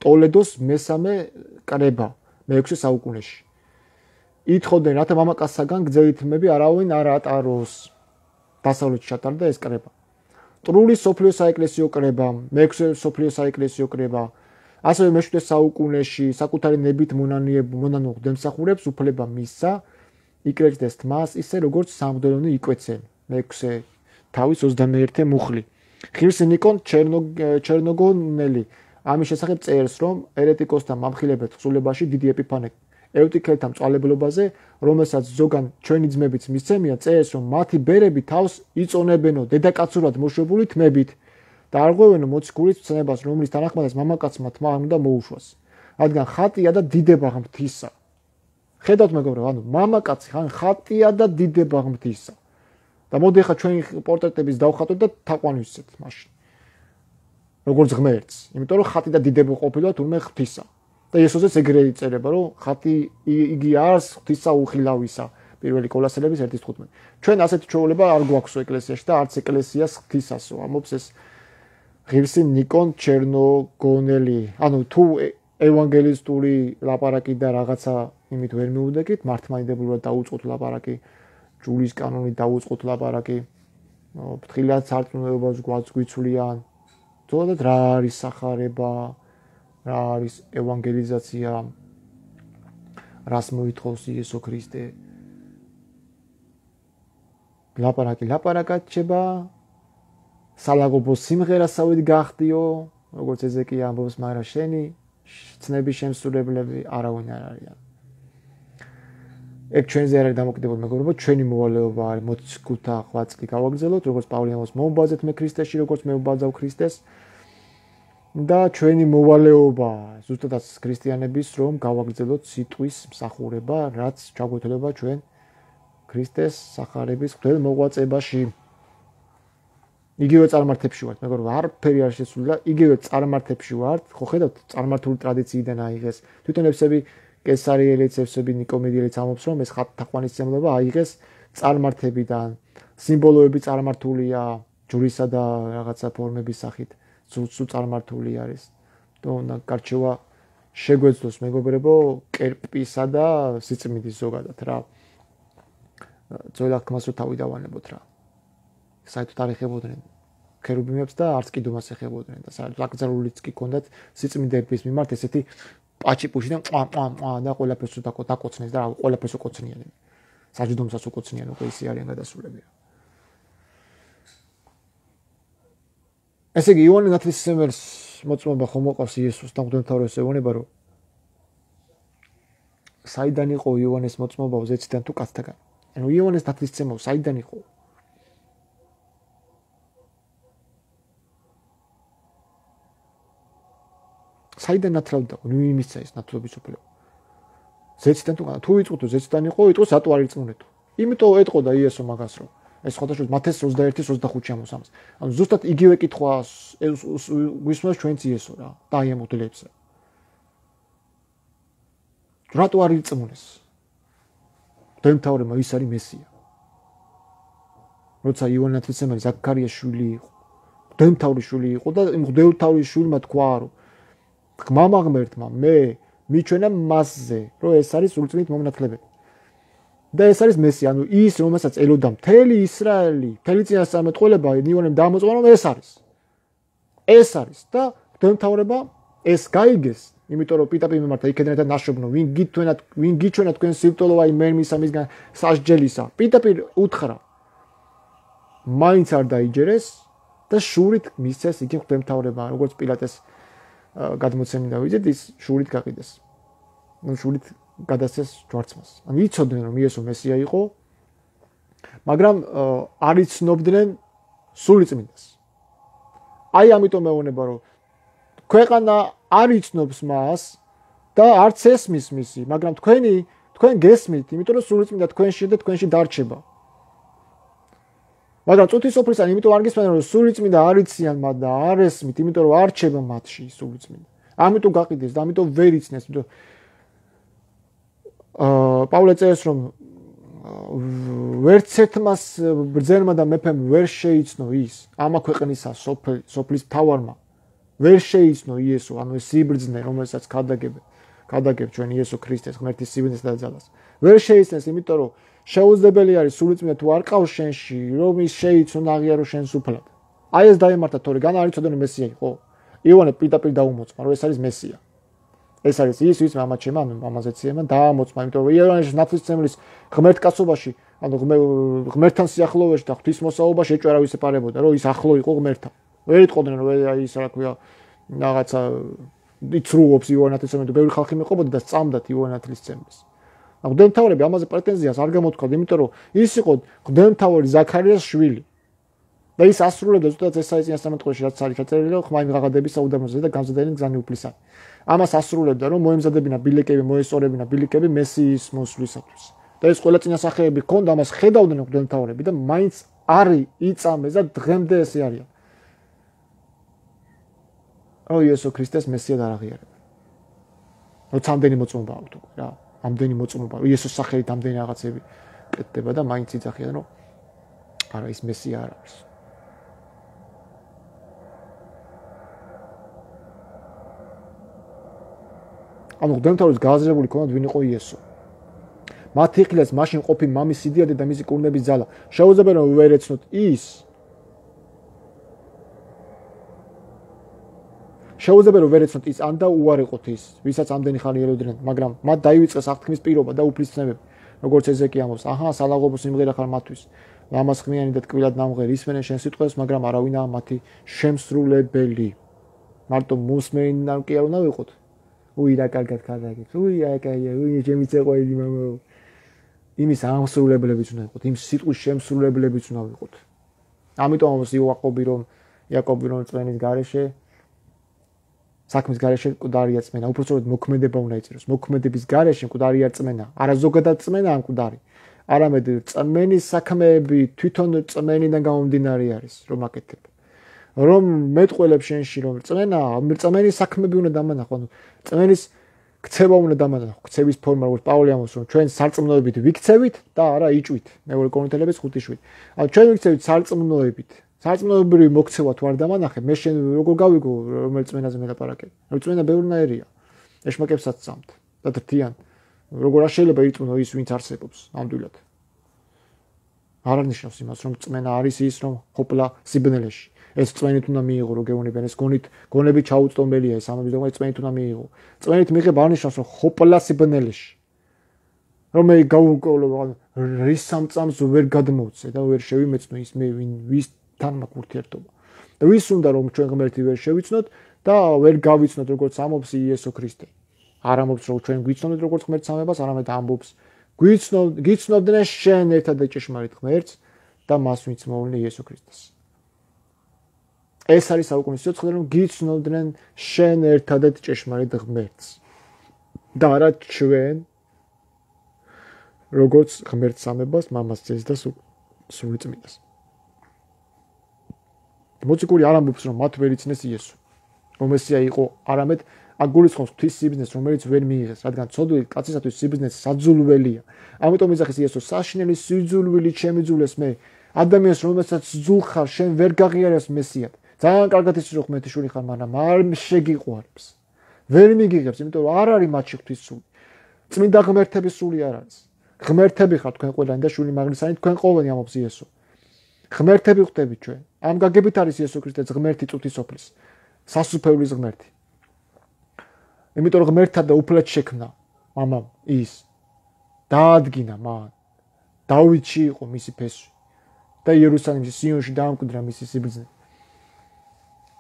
ტოლედოს მესამე კრება მეექვსე საუკუნეში ითხოვდნენ რათა მამაკაცსაგან გრძელი თმები არავინ არ ატაროს დასავლეთში ჩატარდა ეს კრება. ტრული სოფლიო საეკლესიო კრება, მეექვსე სოფლიო საეკლესიო კრება, ასევე მეშვიდე საუკუნეში საკუთარი ნებით მონანიებ მონანო დემსახურებს უფლება მისცა, იკრეჭდეს თმას, ისე როგორც სამღვდელონი იკვეცენ. მეექვსე თავის ოცდამეერთე მუხლი. ღირსი ნიკონ ჩერნოგონელი ამის შესახებ წერს, რომ ერეტიკოსთა მამხილებელ თხზულებაში დიდი ეპიფანე ევტიქელთა მწვალებლობაზე, რომელსაც ზოგან ჩვენი ძმებიც მისცემია, წერს, რომ მათი ბერები თავს იწონებენო დედაკაცურად მოშვებული თმებით და არღვევენო მოციქულის ცნებას, რომლის თანახმადაც მამაკაცმა თმა არ უნდა მოუშვას. რადგან ხატია და დიდება ღმრთისა. ხედავთ მეგობრებო, ანუ მამაკაცი ხან ხატია და დიდება ღმრთისა. და მოდი ახლა ჩვენი პორტრეტების დავხატოთ და თაყვანი ვისცეთ მაშინ. როგორც ღმერთს, იმიტომ რომ ხატი და დიდება ყოფილა თურმე ღმრთისა. და იესოსაც ეგრე იწერება, რომ ხატი იგი არს ღვთისა უხილავისა, პირველი კოლასელების ერთი თხუთმეტი. ჩვენ ასეთი ჩვეულება არ გვაქვს ეკლესიაში და არც ეკლესიას ღვთისასო, ამობს ეს ღირსი ნიკონ ჩერნოგონელი. ანუ თუ ევანგელისტური ლაპარაკი და რაღაცა იმით ვერ მიუდეკით, მართლმადიდებლურად დაუწყოთ ლაპარაკი, ჯულის კანონით დაუწყოთ ლაპარაკი, ფრთხილად სარწმუნოებას გვაცგვიცვლიან, თუნდაც რა არის სახარება, რა არის ევანგელიზაცია, რას მოითხოვს იესო ქრისტე. ლაპარაკი ლაპარაკად ჩება, სალაგობო სიმღერასავით გახდიო, როგორც ეზეკია ამბობს, მაგრამ შენი ცნების შემსრულებლები არავინ არ არიან. ეგ ჩვენზე არ არის დამოკიდებული მეგობრებო, ჩვენი მოვალეობა არის მოციქულთა ღვაწლი გავაგრძელოთ, როგორც პავლე ამბობს, მოუბაძეთ მე ქრისტეში, როგორც მე ვუბაძავ ქრისტეს. და ჩვენი მოვალეობა ზუსტადაც ქრისტიანების რომ გავაგრძელოთ სიტყვის მსახურება, რაც ჩაგვეთვლება ჩვენ ქრისტეს სახარების ღვთელ მოღვაწეობაში. იგივე წარმართებში ვართ, მეგობრებო, არაფერი არ შესულა, იგივე წარმართებში ვართ, ხო ხედავთ, წარმართული ტრადიციიდან აიღეს. თვითონ ევსები კესარიელიც, ევსები ნიკომედიელიც ამბობს, რომ ეს ხატთაყვანისმცემლობა აიღეს წარმართებიდან. სიმბოლოები წარმართულია ჯვრისა და რაღაცა ფორმების სახით. სულ წარმართული არის. და გარჩევა შეგვეძლოს მეგობრებო კერპისა და სიწმინდის ზოგადად რა. ძველ აღქმას რო თავი დავანებოთ რა. საერთოდ არ ეხებოდნენ ქერუბიმებს და არც კიდუმას ეხებოდნენ და საერთოდ აკრძალულიც კი ჰქონდათ სიწმინდეების მიმართ ესეთი პაჩიპუშიდან ყვა ყვა ყვა და ყველაფერს დაკოცნეს და ყველაფერს უკოცნიან. საჯდომსაც უკოცნიან უკვე ისე არიან გადასულები. ესე იგი იოანე ნათლისმცემელს მოწმობა ხომ მოყავს იესოს და მღვდელმთავრებს ეუბნება რომ საიდან იყო იოანეს მოწმობა ზეციდან თუ კაცთაგან. ანუ იოანეს ნათლისმცემლო საიდან იყო? საიდან ნათლავდა? ნუ იმისა ეს ნათლობის უფლება. ზეციდან თუ თუ იწუთო ზეციდან იყო, იტყოს ატო არ იწმუნეთო. იმიტომ ეტყოდა იესო მაგას რომ ეს ხოთაშო მათეს ოცდაერთი ოცდახუთი ამოსამს. ანუ ზუსტად იგივე კითხვას გვისმენს ჩვენც იესო რა და აი ამ უდლებს. რატო არ იწმუნეს? მღვდელმთავრებმა ის არის მესია. როცა იოანე ნათლისმცემელი ზაქარიას შვილი იყო, მღვდელმთავრის შვილი იყო და მღვდელმთავრის შვილმა თქვა რომ ღმამა ღმერთმა მე მიჩვენა მასზე, რომ ეს არის სულწმით მომნათლებელი. და ეს არის მესია, ანუ ის რომელსაც ელოდა მთელი ისრაელი, მთელი წინასწარმეტყველება იოანემ დაამოწმა რომ ეს არის. ეს არის და მღვდელმთავრება ეს გაიგეს, იმიტომ რომ პიტაპი მიმართა იქედან და ნაშობნო, ვინ გითვენა, ვინ გიჩვენა თქვენ სივრცელოვა იმერმისა მისგან სასჯელისა. პიტაპი უთხრა. მაინც არ დაიჯერეს და შურით მისცეს იგი მღვდელმთავრება, როგორც პილატეს გადმოცემი დავიძეთ, ის შურით გაყიდეს. ნუ შურით გადასცეს ჯვარცმას. ანუ იცოდნენ რომ იესო მესია იყო, მაგრამ არ იცნობდნენ სულიწმინდას. აი ამიტომ მეუბნება რომ ქვეყანა არ იცნობს მას და არც ესმის მისი, მაგრამ თქვენი თქვენ გესმით, იმიტომ რომ სულიწმინდა თქვენში და თქვენში დარჩება. მაგრამ წუთისოფლისგან იმიტომ არ გისმენთ რომ სულიწმინდა არ იციან მათ და არ ესმით, იმიტომ რომ არ რჩება მათში სულიწმინდა. ამიტომ გაყიდეს და ამიტომ ვერ იცნეს, იმიტომ აა პავლე წერს რომ ვერც ერთმას ბრძენმა და მეფემ ვერ შეიცნო ის ამა ქვეყნისა სოფლის მთავარმა ვერ შეიცნო იესო, ანუ ეს სიბრძნე რომელსაც გადაგებ გადაგებ ჩვენ იესო ქრისტეს ღმერთის სიბრძნეს და ძალას. ვერ შეიცნეს, იმიტომ რომ შეუძლებელი არის სულიწმინდა თუ არ ყავს შენში, რომ ის შეიცნო და აღიარო შენს უფლად. აი ეს დაემართა თორე განა არ იცოდნენ მესია იყო. იოანე პირდაპირ დაუმოწმა რომ ეს არის მესია. ეს არის ის ვის მამაც შემა, ანუ მამაზეც შემა დაამოწმა, იმიტომ რომ იოანეს ნათლისმცემლის ღმერთკაცობაში, ანუ ღმერთთან სიახლოვეში და ღვთისმოსაობაში ეჭვარა ვისეპარებოდა, რომ ის ახლო იყო ღმერთთან. ვერ იტყოდნენ რომ აი ის რა ქვია რაღაცა იცრუობს იოანე ნათლისმცემელი, ბევრი ხალხი მეყობოდა და სწამდათ იოანე ნათლისმცემლის. მღვდელმთავრები ამაზე პრეტენზიას არ გამოთქვათ, იმიტომ რომ ის იყო მღვდელმთავარი ზაქარიას შვილი. და ის ასრულებდა ზუსტად ესაის წინასწარმეტყველში რაც არის ჩაწერილი, რომ ხმაი მიღაღადების საუდამოზე და გამზადებელი გზანი უფლისანი. ამას ასრულებდა, რომ მოემზადებინა ბილიკები, მოესწორებინა ბილიკები მესიის მოსვლისათვის. და ეს ყველა წინასახეები ჰქონდა, ამას ხედავდნენ მღვდელმთავრები და მაინც არ იწამეს და დღემდე ესე არიან. რომ იესო ქრისტეს მესია არ აღიარებენ. როცა ამდენი მოწმობა აქვთ უკვე რა, ამდენი მოწმობა, იესოს სახელით ამდენი რაღაცები კეთდება და მაინც იძახიან, რომ არა ის მესია არ არის. ანუ მღვდელმთავრის გააზრებული ქონდათ ვინ იყო იესო. მათ იხილეს მაშინ ყოფი მამის სიდიადე და მისი კურნების ძალა. შეუძლებელი რომ ვერ ეცნოთ ის შეუძლებელი რომ ვერ ეცნოთ ის ან და უარიყოთ ის, ვისაც ამდენი ხანი ელოდნენ, მაგრამ მათ დაივიწყეს აღთქმის პირობა და უფლისწინებები, როგორც ეზეკი ამბობს, აჰა, სალაღობო სიმღერა ხარ მათთვის. ლამაზ ხმიანი და ტკბილად ნამღერი ისმენენ შენ სიტყვებს, მაგრამ არავინაა მათი შემსრულებელი. მარტო მოსმეინ არ კი არ უნდა ვიყოთ. უი რა კარგად გადაგეთ. უი აი კაია, უი ჩემი წეყველი მამა. იმის ამსრულებლებიც უნდა ვიყოთ, იმ სიტყვის შემსრულებლებიც უნდა ვიყოთ. ამიტომ ამბობს იაკობი რომ იაკობი რომ წვენის გარეშე საქმის გარეშე მკვდარია წმენა, უпростоროდ მოქმედება უნდა იწეროს. მოქმედების გარეშე მკვდარია წმენა. არა ზოგადად წმენა ამ მკვდარი. არამედ წმენის საქმეები თვითონ წმენიდან გამომდინარე არის, რომ აკეთებ. რომ მეტყველებს შენში რომ წმენა, წმენის საქმეები უნდა დამანახო, ანუ წმენის ქცევა უნდა დამანახო, ქცევის ფორმა, როგორც პავლე ამბობს, რომ ჩვენ სარწმუნოებით ვიქცევით და არა იჭვით. მეორე კორინთელების ხუთი შვიდი. ანუ ჩვენ ვიქცევით სარწმუნოებით. სარწმუნოებრივი მოქცევა თუ არ დამანახე, მე შენ როგორ გავიგო რომელ წმენაზე მელაპარაკებ? რომ წმენა ბევრნაირია. ეშმაკებსაც წამთ და დრთიან. როგორ არ შეიძლება ირწმუნო ის, ვინც არსებობს ნამდვილად. არ არნიშნავს იმას, რომ წმენა არის ის, რომ ხოპლა სიბნელეში. ეს წვენით უნდა მიიღო, რო გეუბნებიან, ეს გონით, გონებით ჩაუწტომელია, ეს ამბის დოგმა წვენით უნდა მიიღო. წვენით მიიღებ არნიშნავს, რომ ხოპლასი ბნელში. რომ მე გავუკოლო რის სამწამს ვერ გადმოვცე და ვერ შევიმეცნო ის მე ვინ ვისთან მაქვს ურთიერთობა. და ვის უნდა რომ ჩვენ ღმერთი ვერ შევიცნოთ და ვერ გავიცნოთ როგორც ამობს იესო ქრისტე. არ ამბობს რომ ჩვენ გვიცნობთ როგორც ღმერთს ამებას, არამედ ამბობს გვიცნობ გიცნობდნენ შენ ერთად ჭეშმარიტ ღმერთს და მას ვინც მოვლენე იესო ქრისტეს. ეს არის საუკუნის სიოცხლე რომ გიცნობდნენ შენ ერთადად ჭეშმარიტ ღმერთს. და არა ჩვენ როგორც ღმერთს ამებას, მამას ძეს და სული წმინდას. მოციქული არ ამბობს რომ მათ ვერ იცნეს იესო. რომ მესია იყო, არამედ აგულისხმობს ღვთის სიბრძნეს, რომელიც ვერ მიიღეს, რადგან ცოდვილი კაცისათვის სიბრძნე საძულველია. ამიტომ იძახის იესო, საშინელი სიძულვილი ჩემი ძულეს მე, ადამიანს რომელსაც ძულ ხარ, შენ ვერ გაღიარებს მესიად. ძალიან კარგად იცი რომ ღმერთიშვილი ხარ, მაგრამ არ შეგიყვარებს. ვერ მიგიღებს, იმიტომ რომ არ არის მათში ღვთის სული. წმინდა ღმერთების სული არ არის. ღმერთები ხართ თქვენ ყველანი და შვილი მაგნისანი თქვენ ყოველნი ამობს იესო. ღმერთები ხდებით ჩვენ. ამ გაგებით არის იესო ქრისტე ღმერთი წუთისოფლის, სასუფეულის ღმერთი. იმიტომ რომ ღმერთთან და უფლად შექმნა მამამ ის დაადგინა მან. დავითში იყო მისი ფესვი და იერუსალიმში სიონში დაამკვიდრა მისი სიბრძნე.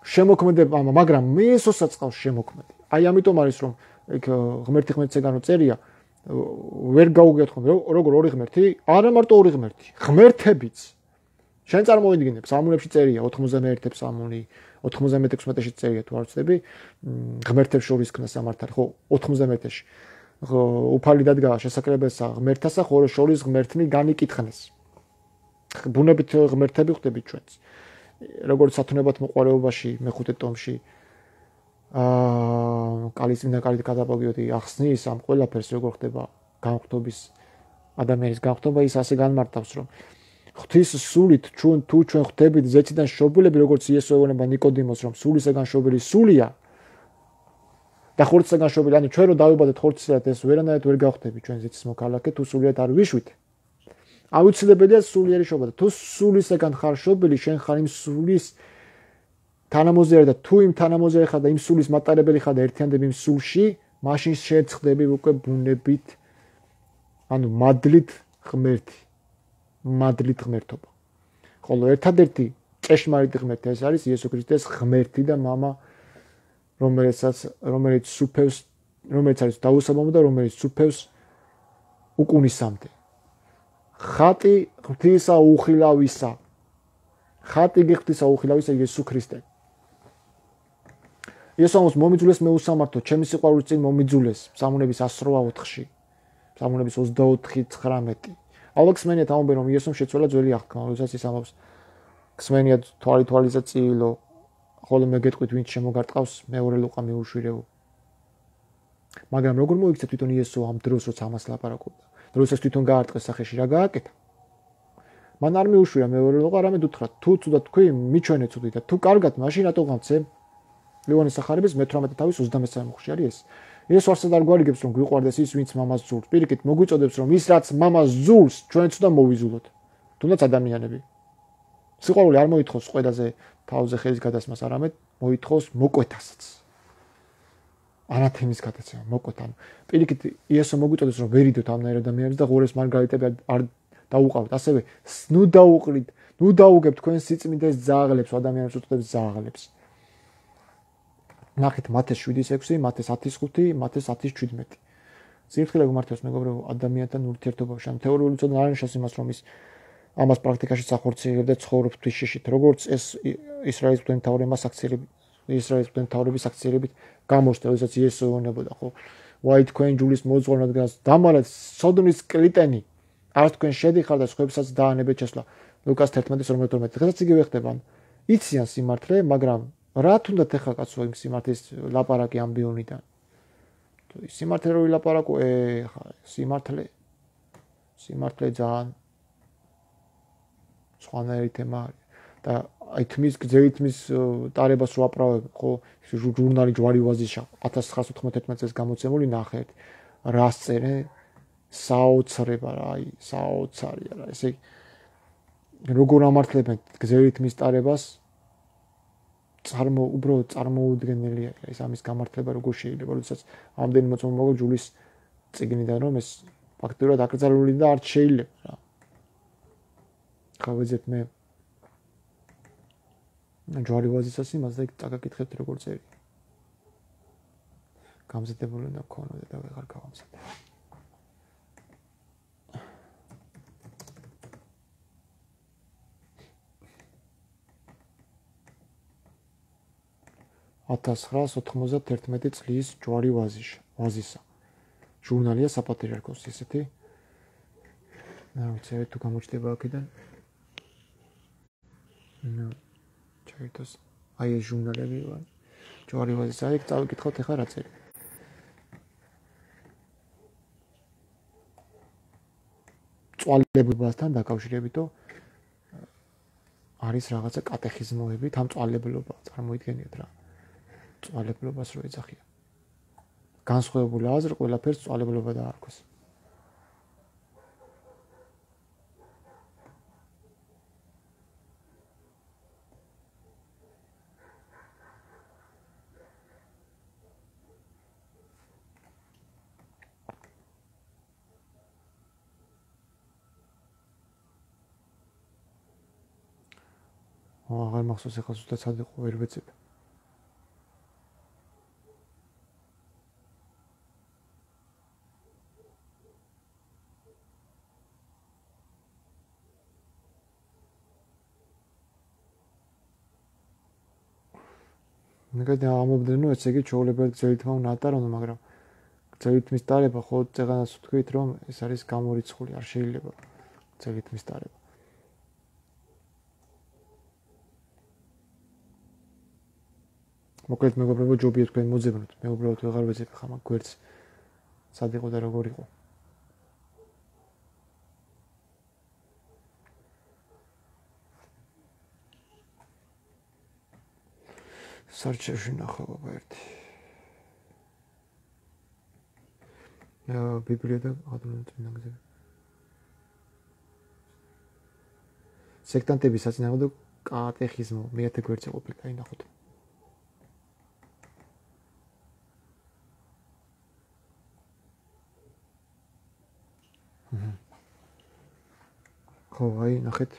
შემოქმედება მამა, მაგრამ მიესოსაც ყავს შემოქმედი. აი ამიტომ არის რომ ეგ ღმერთი ღმერთსეგანო წერია ვერ გაუგეთ ხომ როგორ ორი ღმერთი? არა მარტო ორი ღმერთი, ღმერთებიც. შენ წარმოვიდგინებ, სამუნებში წერია ოთხმოცდამეერთე ფსალმუნი, ოთხმოცდამეთექვსმეტეში წერია თუ არ ვცდები, ღმერთებს შორის ქნა სამართალი, ხო, ოთხმოცდამეერთეში. ხო, უფალი დადგა შესაძლებელსა ღმერთასა, ხოლო შორის ღმერთნი განიკითხნეს. ბუნებით ღმერთები ხდებით ჩვენც. როგორც სათნოებად მოყარეობაში მეხუთე ტომში აა კალიწმინდა კალით გადაპოგიოდი ახსნის ამ ყველაფერს როგორ ხდება განხთობის ადამიანის განხთობა ის ასე განმარტავს რომ ღვთის სულით ჩვენ თუ ჩვენ ხდებით ზეციდან შობილები როგორც იესო ეუბნება ნიკოდიმოს რომ სულისაგან შობილი სულია და ხორცისაგან შობილი ანუ ჩვენ რო დავიბადეთ ხორცისაგან ეს ვერანაირად ვერ გავხდები ჩვენ ზეცის მოქალაქე თუ სულიად არ ვიშვით აუცილებელია სულიერი შობა თუ სულისაგან ხარ შობილი შენ ხარ იმ სულის თანამოზიარი და თუ იმ თანამოზიარი ხარ და იმ სულის მატარებელი ხარ და ერთიანდები იმ სულში მაშინ შეწყდები უკვე ბუნებით ანუ მადლით ღმერთი მადლით ღმერთობა ხოლო ერთადერთი ჭეშმარიტი ღმერთი ეს არის იესო ქრისტეს ღმერთი და მამა რომელსაც რომელიც სუფევს რომელიც არის დაუსაბამო და რომელიც სუფევს უკუნისამდე ხატი ღვთისა უხილავისა ხატი ღვთისა უხილავისა იესო ქრისტე იესოს მომიძულეს მე უსამართო ჩემი სიყვარულის წინ მომიძულეს ფსალმუნების one oh four-ში ფსალმუნების ოცდაოთხი ცხრამეტი ალბათ გსმენიათ ამბობენ რომ იესომ შეცვალა ძველი აღთქმა როდესაც ის ამბობს გსმენიათ თვალი თვალიზე წილო ხოლო მე გეტყვით ვინც შემოგარტყავს მეორე ლუყა მიუშვირეო მაგრამ როგორ მოიქცეთ თვითონ იესო ამ დროს როცა ამას ლაპარაკობდა როდესაც თვითონ გაარტყეს სახეში რა გააკეთა მან არ მიუშვირა მეორე ლუყა არამედ უთხრა თუ ცუდად თქვი მიჩვენე ცუდი და თუ კარგად მაშინ რატო გამცე ლეონის სახარების მეთვრამეტე თავის ოცდამესამე მუხლში არის ეს. ეს ვარსად არ გვარიგებს რომ გვიყვარდეს ის ვინც მამას ძულს. პირიქით მოგვიწოდებს რომ ის რაც მამას ძულს ჩვენც უნდა მოვიზულოთ. თუნდაც ადამიანები. სიყვარული არ მოითხოვს ყველაზე თავზე ხელის გადასმას, არამედ მოითხოვს მოკვეთასაც. ანათემის გადაცემა, მოკვეთა. პირიქით იესო მოგვიწოდებს რომ ვერიდოთ ამნაირ ადამიანებს და ღორეს მარგალიტები არ დაუყავთ. ასევე ნუ დაუყრით, ნუ დაუგებთ თქვენ სიწმინდეს ძაღლებს, ადამიანებს უწოდებს ძაღლებს. ნახეთ მათეს შვიდის ექვსი, მათეს ათის ხუთი, მათეს ათის შვიდმეტი. სირთულე გმართავს მეგობრებო ადამიანთან ურთიერთობაში. ამ თეორიული ცოდნა არ ნიშნავს იმას, რომ ის ამას პრაქტიკაში სახორციელებს და ცხოვრობს თვისშიშით, როგორც ეს ისრაელის მთავრები მას აქციელებით, ისრაელის მთავრების აქციელებით გამოსწდა, როდესაც იესო ეუბნებოდა, ხო? ვაი თქვენ ჯულის მოძღვარნად დამალეთ სოდომის კლიტენი, არც თქვენ შედიხარ და სხვებსაც დაანებეთ შესვლა. ლუკას თერთმეტი ორმოცდაათი. დღესაც იგივე ხდება. იციან სიმართლე, მაგრამ რა თუნდაც ეხა კაცო იმ სიმართლის ლაპარაკი ამბიონიდან. სიმართლე რო ვილაპარაკო, ეხა სიმართლე სიმართლე ძალიან სხვანაირი თემა არის და აი თმის გზით თმის ტარებას რო აპრავებ, ხო, ჟურნალი ჯვარი ვაზიშა ათას ცხრაასი ოთხმოცდათერთმეტი წელს გამოცემული ნახეთ. რას წერენ? საოცრება რა, აი, საოცარია რა. ესე როგორ ამართლებენ გზით თმის ტარებას? წარმო უბრალოდ წარმოუდგენელია ეს ამის გამართლება როგორ შეიძლება, როდესაც ამდენი მოწმობა მოგო ჯულის წიგნიდან რომ ეს ფაქტურად აკრძალული და არ შეიძლება რა. ხავეძეთ მე ჯვარი ვაზისას იმას და იქ წაგაკითხებთ როგორ წერია. გამზადებული უნდა გქონოდა და ვეღარ გავამზადე. ათას ცხრაას ოთხმოცდაათერთმეტი წლის ჯვარი ვაზიშა, ვაზისა. ჟურნალია საპატრიარქოს ისეთი. რა ვიცი, თუ გამოჩნდება აქედან. ნუ ჩაიტოს. აი ეს ჟურნალები ვარ. ჯვარი ვაზისა, აი წავიკითხოთ ახლა რა წერია. წვალებულობასთან დაკავშირებითო არის რაღაცა კატეხიზმოები, თან წვალებლობა წარმოიდგენიათ რა. წვალებლობას რო ეძახიან. განსხვავებული აზრი ყველაფერს წვალებლობა დაარქვეს. აღარ მახსოვს ახლა ზუსტად სად იყო ვერ ვეცებ. მეგონა ამობდენო ესე იგი ჩაოლებად გზელითმა უნდა ატარონ, მაგრამ გზელითმის დარება ხო წეღანას ვთქვით რომ ეს არის გამორიცხული, არ შეიძლება გზელითმის დარება. მოკლედ მეგობრებო ჯობია თქვენ მოძებნოთ, მე უბრალოდ ვეღარ ვეძებ ხა მაგ გვერდს სად იყო და როგორ იყო. სარჩევში ნახო ბაბა ერთი. ბიბლია და ადროინდ წინა გზები. სექტანტების საწინააღმდეგო კატეხიზმო მეათე გვერდზე ყოფილი, აი ნახოთ. ხო, აი ნახეთ.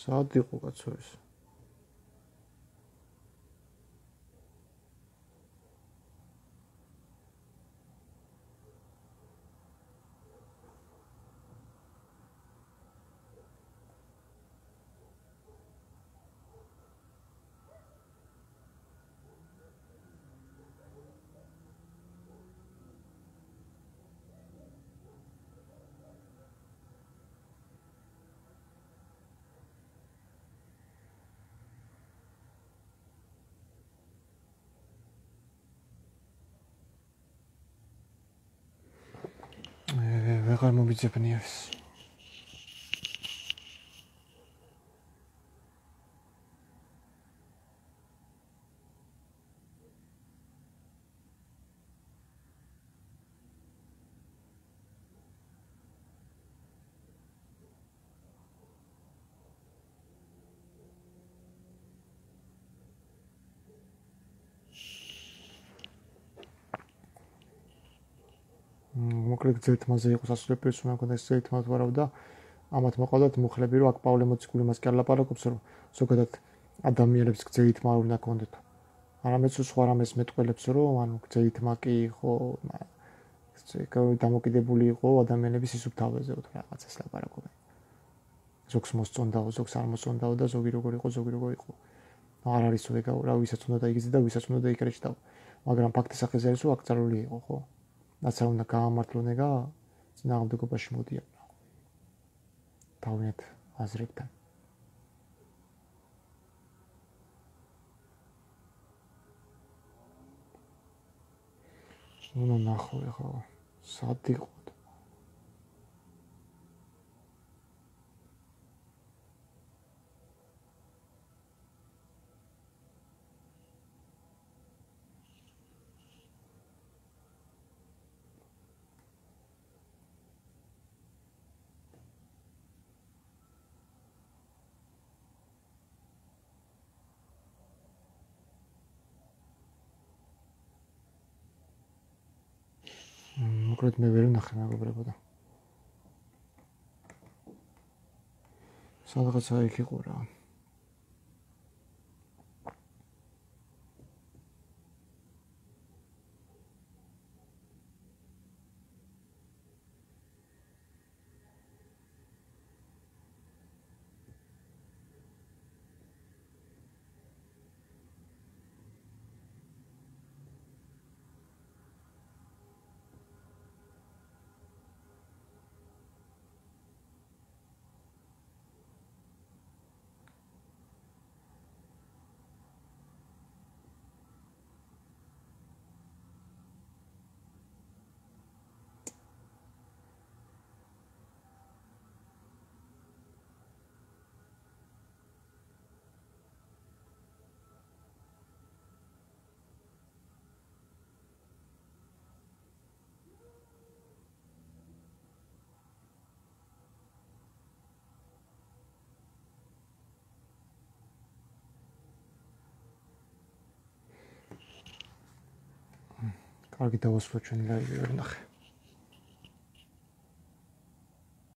სად იყო კაცო ეს? ვეღარ მომიძებნია ეს. მოკლედ გზელთმაზე იყო სასულიერო პერსონა მქონდეს გზელთმა თუ არა და ამათ მოყავდათ მუხლები რომ აქ პავლე მოციქული მას კი არ ლაპარაკობს რომ ზოგადად ადამიანებს გზელთმა არ უნდა კონდეთ. არამედ სხვა რამეს მეტყველებს რომ ანუ გზელთმა კი იყო დამოკიდებული იყო ადამიანების სისუფთავეზე თუ რაღაცას ლაპარაკობენ. ზოგს მოსწონდაო, ზოგს არ მოსწონდაო და ზოგი როგორ იყო, ზოგი როგორ იყო. არ არის თუ ეგა რა ვისაც უნდა დაიგიძე და ვისაც უნდა დაიკრეჭდაო. მაგრამ ფაქტის სახეზე არის რომ აკრძალული იყო, ხო? რაც არ უნდა გაამართლონ ეგა წინააღმდეგობაში მოდიან. თავიანთ აზრებთან. უნდა ნახო ეხლა სად იყო მოკლედ მე ვერ ვნახე მეგობრებო და სადღაცა იქ იყო რა კარგი დავასრულოთ ჩვენი ლაივი ვერ ნახე